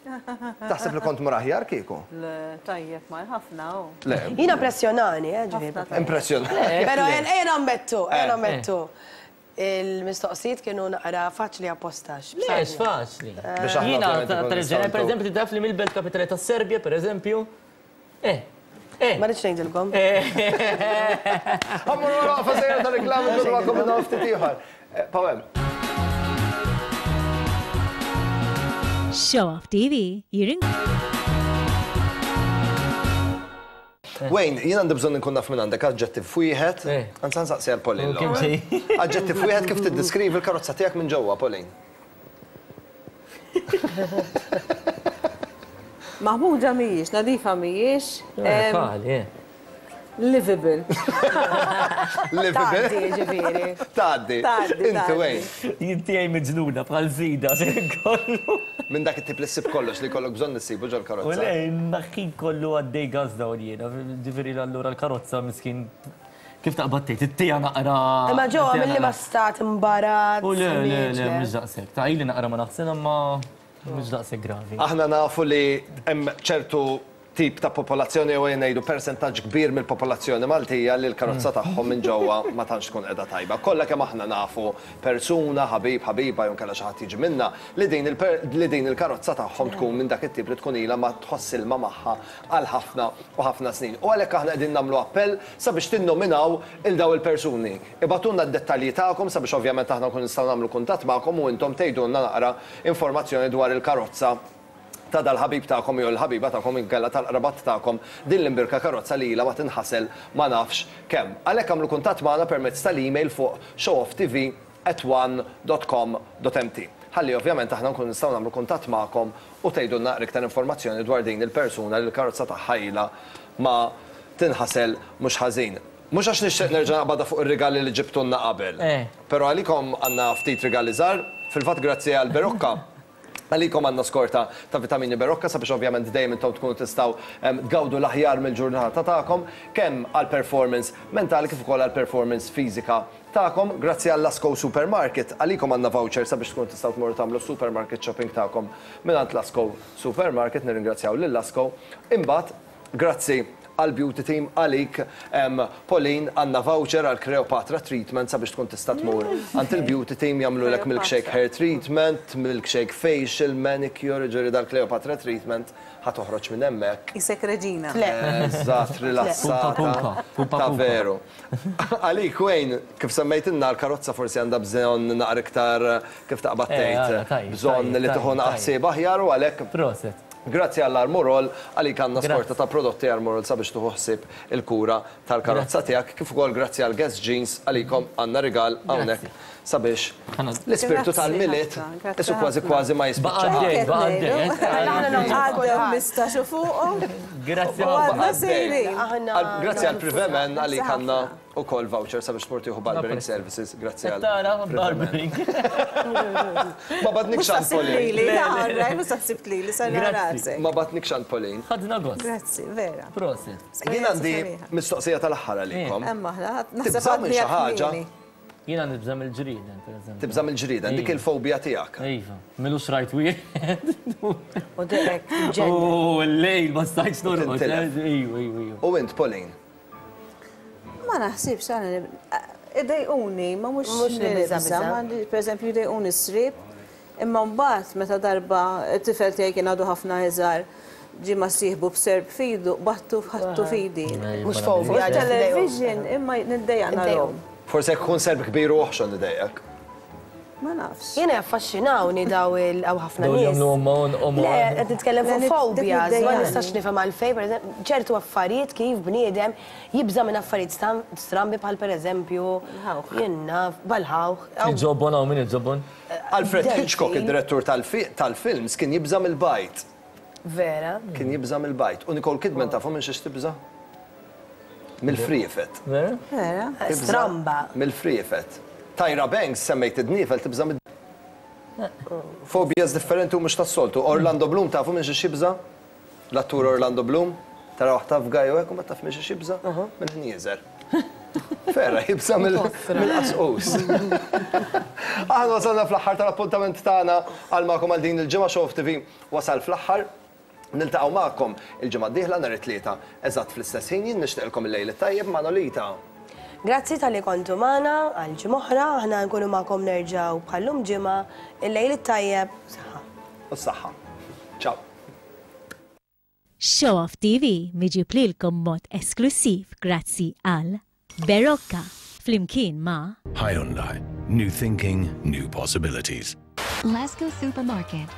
Taħseb li kont mur aħjar kieku? Le, tajjeb, mar ħafna u. Le. Jiena impressjonani, eh, ġifieri. Impressjonani. Però ejja nammettu, ejja nammettu. Il-mistoqsijiet kienu naqra faċli appostax. Le, faċli. Biex aħna Jiena ovvjament ikun tarif ġenerali, nistgħu per eżempju, taf li mill-belt kapitali tas Serbja, per eżempju. Eh, eh. Ma rridx ngħidilkom. Ħa mmorru waqfa żgħira ta' reklami nkunu magħkom minn hawn ftit ieħor. Eh, Pawel. Show Off T V jirin Wayne, jien għandi bżonn nkun naf minn għandek aġġettiv wieħed. Anzi nsaqsi għal Pauline. U kemm l-ewwel. Aġġettiv wieħed kif tiddeskrivi l-karozza tiegħek minn ġewwa, Pauline. Maħmuġa mhijiex, nadifa mhijiex. Eh, em, Faħli, eh. Livable. Livable. Tgħaddi, ġifieri. Tgħaddi. Tgħaddi, Inti tgħaddi. Wayne. Jinti għaj miġnuna bħal zida, kollu. Minn dak it-tip li ssib kollox li jkollok bżonn issibu ġol U karozza. le, naħin kollu għaddej gaz dawn jiena, ġifieri allura l-karozza miskin kif taqbad tgħid, it-tija naqra. Imma ġewwa it-tija mill-li ma naqra. stat imbarazz. U le, le, le, miġ, mhux daqshekk. Ta' ili naqra ma naħsel imma mhux daqshekk gravi. Aħna nafu li hemm ċertu tip ta' popolazzjoni u ngħidu persentaġġ kbir mill-popolazzjoni Maltija li l-karozza tagħhom minn ġewwa ma tantx tkun qiegħda tajba. Kollha kemm aħna nafu persuna, ħabib, ħabiba jew kellha xi ħadd jiġi minna li din il-per- li din il-karozza tagħhom tkun minn dak it-tip li tkun ilha ma tħoss ilma magħha għal ħafna u ħafna snin. U għalhekk aħna qegħdin nagħmlu appell sabiex tinnominaw il daw il-persuni. Ibagħtulna d-dettalji tagħkom sabiex ovvjament aħna nkun nistgħu nagħmlu kuntatt magħkom u intom tgħidulna naqra informazzjoni dwar il-karozza ta' dal-ħabib tagħkom jew l-ħabiba tagħkom inkella tal-qrabat tagħkom din l-imbirka karozza li ilha ma tinħasel ma nafx kemm. Għalhekk għamlu kuntatt magħna permezz tal-email fuq showofftv at one dot com dot M T. Ħalli ovvjament aħna nkun nistgħu nagħmlu kuntatt magħkom u tgħidulna iktar informazzjoni dwar din il-persuna li l-karozza tagħha ilha ma tinħasel mhux ħażin. Mhux għax nixtieq nerġa' naqbadha fuq ir-rigali li ġibtulna qabel. Eh. Però għalikom għandna ftit rigali żgħar, fil-fatt grazzi għal Berocca. Għalikom għandna skorta ta' vitamini Berocca sabiex ovvjament dejjem intom tkunu tistgħu em, tgawdu l-aħjar mill-ġurnata tagħkom kemm għal performance mentali kif ukoll għal performance fiżika tagħkom. Grazzi għal Lasco Supermarket, għalikom għandna voucher sabiex tkunu tistgħu tmorru tagħmlu supermarket shopping tagħkom mingħand Lasco Supermarket, nirringrazzjaw lil Lasco. Imbagħad, grazzi għal Beauty Team, għalik, em, Pauline, għandna voucher għal Cleopatra Treatment sabiex tkun tista' tmur għand il-Beauty Team jagħmlu lek milkshake hair treatment, milkshake facial, manicure, ġifieri dal-Cleopatra Treatment ħa toħroġ minn hemmhekk. Isek reġina. Eżatt, rilassata. Pumpa, pumpa, pumpa, Ta' pumpa. veru. Għalik, Wayne, kif semmejtinna l-karozza forsi għandha bżonn naqra iktar kif taqbad Eh, tgħid, għala, tajjeb, bżonn tajjeb, li tieħu tajjeb, ħsieb aħjar u għalhekk Proset. Grazzi għall-Armorol, għalik għandna Grazzi. skorta ta' prodotti Armorol sabiex tuħu ħsieb il-kura tal-karozza tiegħek, kif ukoll grazzi għal Guess Jeans għalikom għandna rigal hawnhekk sabiex l-ispirtu Grazzi tal-Milied ħafna, grazzi isu kważi ħafna. kważi ma Baqa' jispiċċa. għaddej, baqa' għaddej. Għaddew ħmistax u fuqhom. Grazzi U għadna ħafna. sejrin. Għal- Grazzi għal Privemen għalik għandna ukoll voucher sabiex tmur tieħu barbering services. Grazzi għal. Tara, barbering. Ma bgħattnikx għand Pauline. Lili, għarraj, mhux taħsib lili, sarra Grazzi. rasek. Ma bgħattnikx għand Pauline. Ħadna gost. Grazzi, vera. Proset. Jien għandi mistoqsija tal-aħħar għalikom. Emma, aħna, naħseb Tibża' minn xi ħaġa? Jiena nibża' mill-ġrieden, per eżempju. Tibża' mill-ġrieden, dik il-fobja tiegħek. Iva, m'ilux rajt wieħed. U direk, ġenna. U l-lejl ma stajtx norqod. Tintilef. Ejju, ejju, ejju. U int, Pauline? Ma naħsibx għana idejquni, ma mhux Mhux li biża' nibża', biża'. ma għandi- per eżempju jdejquni s-srib, imma mbagħad meta darba t-tifel tiegħi kien għadu ħafna iżgħar ġie ma sieħbu b'serp f'idu, battu ħattu f'idi. Mhux fobja, Fuq television imma niddejjaq narahom. Forse jekk ikun serp kbir u oħxon idejjek. Ma nafx. Jiena jaffaxxinawni daw il hawn ħafna Dawn nies. jagħmlu omon, omon. Le, qed nitkellem fuq Le, fobias, ma niddejjaqni. nistax nifhem għalfejn, per eżempju, ċertu affarijiet kif bniedem jibża' minn affarijiet stam- strambi bħal pereżempju jien naf, bħall-ħawħ. Il-ġobon hawn min il-ġobon? Alfred Delfin. Hitchcock, id-direttur tal-fi- tal-films, kien jibża' mill-bajd. Vera. Kien jibża' mill-bajd. U Nicole Kidman tafu minn xiex tibża'? Mill-friefet. Vera? Vera. Tibża' Stramba. Mill-friefet. Tyra Banks semmejt id-dniefel tibża' mid Fobias differenti u mhux tas-soltu. Orlando Bloom tafu minn xiex jibża'? L-attur Orlando Bloom? Tara taf gaj u hekk u ma taf minn xiex jibża', mill-ħnieżer. Vera, jibża' mill-qasqus. Aħna wasalna fl-aħħar tal-appuntament tagħna għal magħkom għal din il-ġimgħa. Show Off T V wasal fl-aħħar. Niltaqgħu magħkom il-ġimgħa d-dieħla nhar it-Tlieta eżatt fl-istess ħin. Jien nixtieqilkom il-lejl it-tajjeb. Manolita. Grazzi talli kontu magħna għal ġimgħa oħra, aħna nkunu magħkom nerġgħu bħallum ġimgħa, il-lejl it-tajjeb, saħħa. U s-saħħa. Ciao. Show Off T V miġjub lilkom b'mod esklusiv grazzi għal Berocca flimkien ma' Hyundai. New thinking, new possibilities. Lasco Supermarket.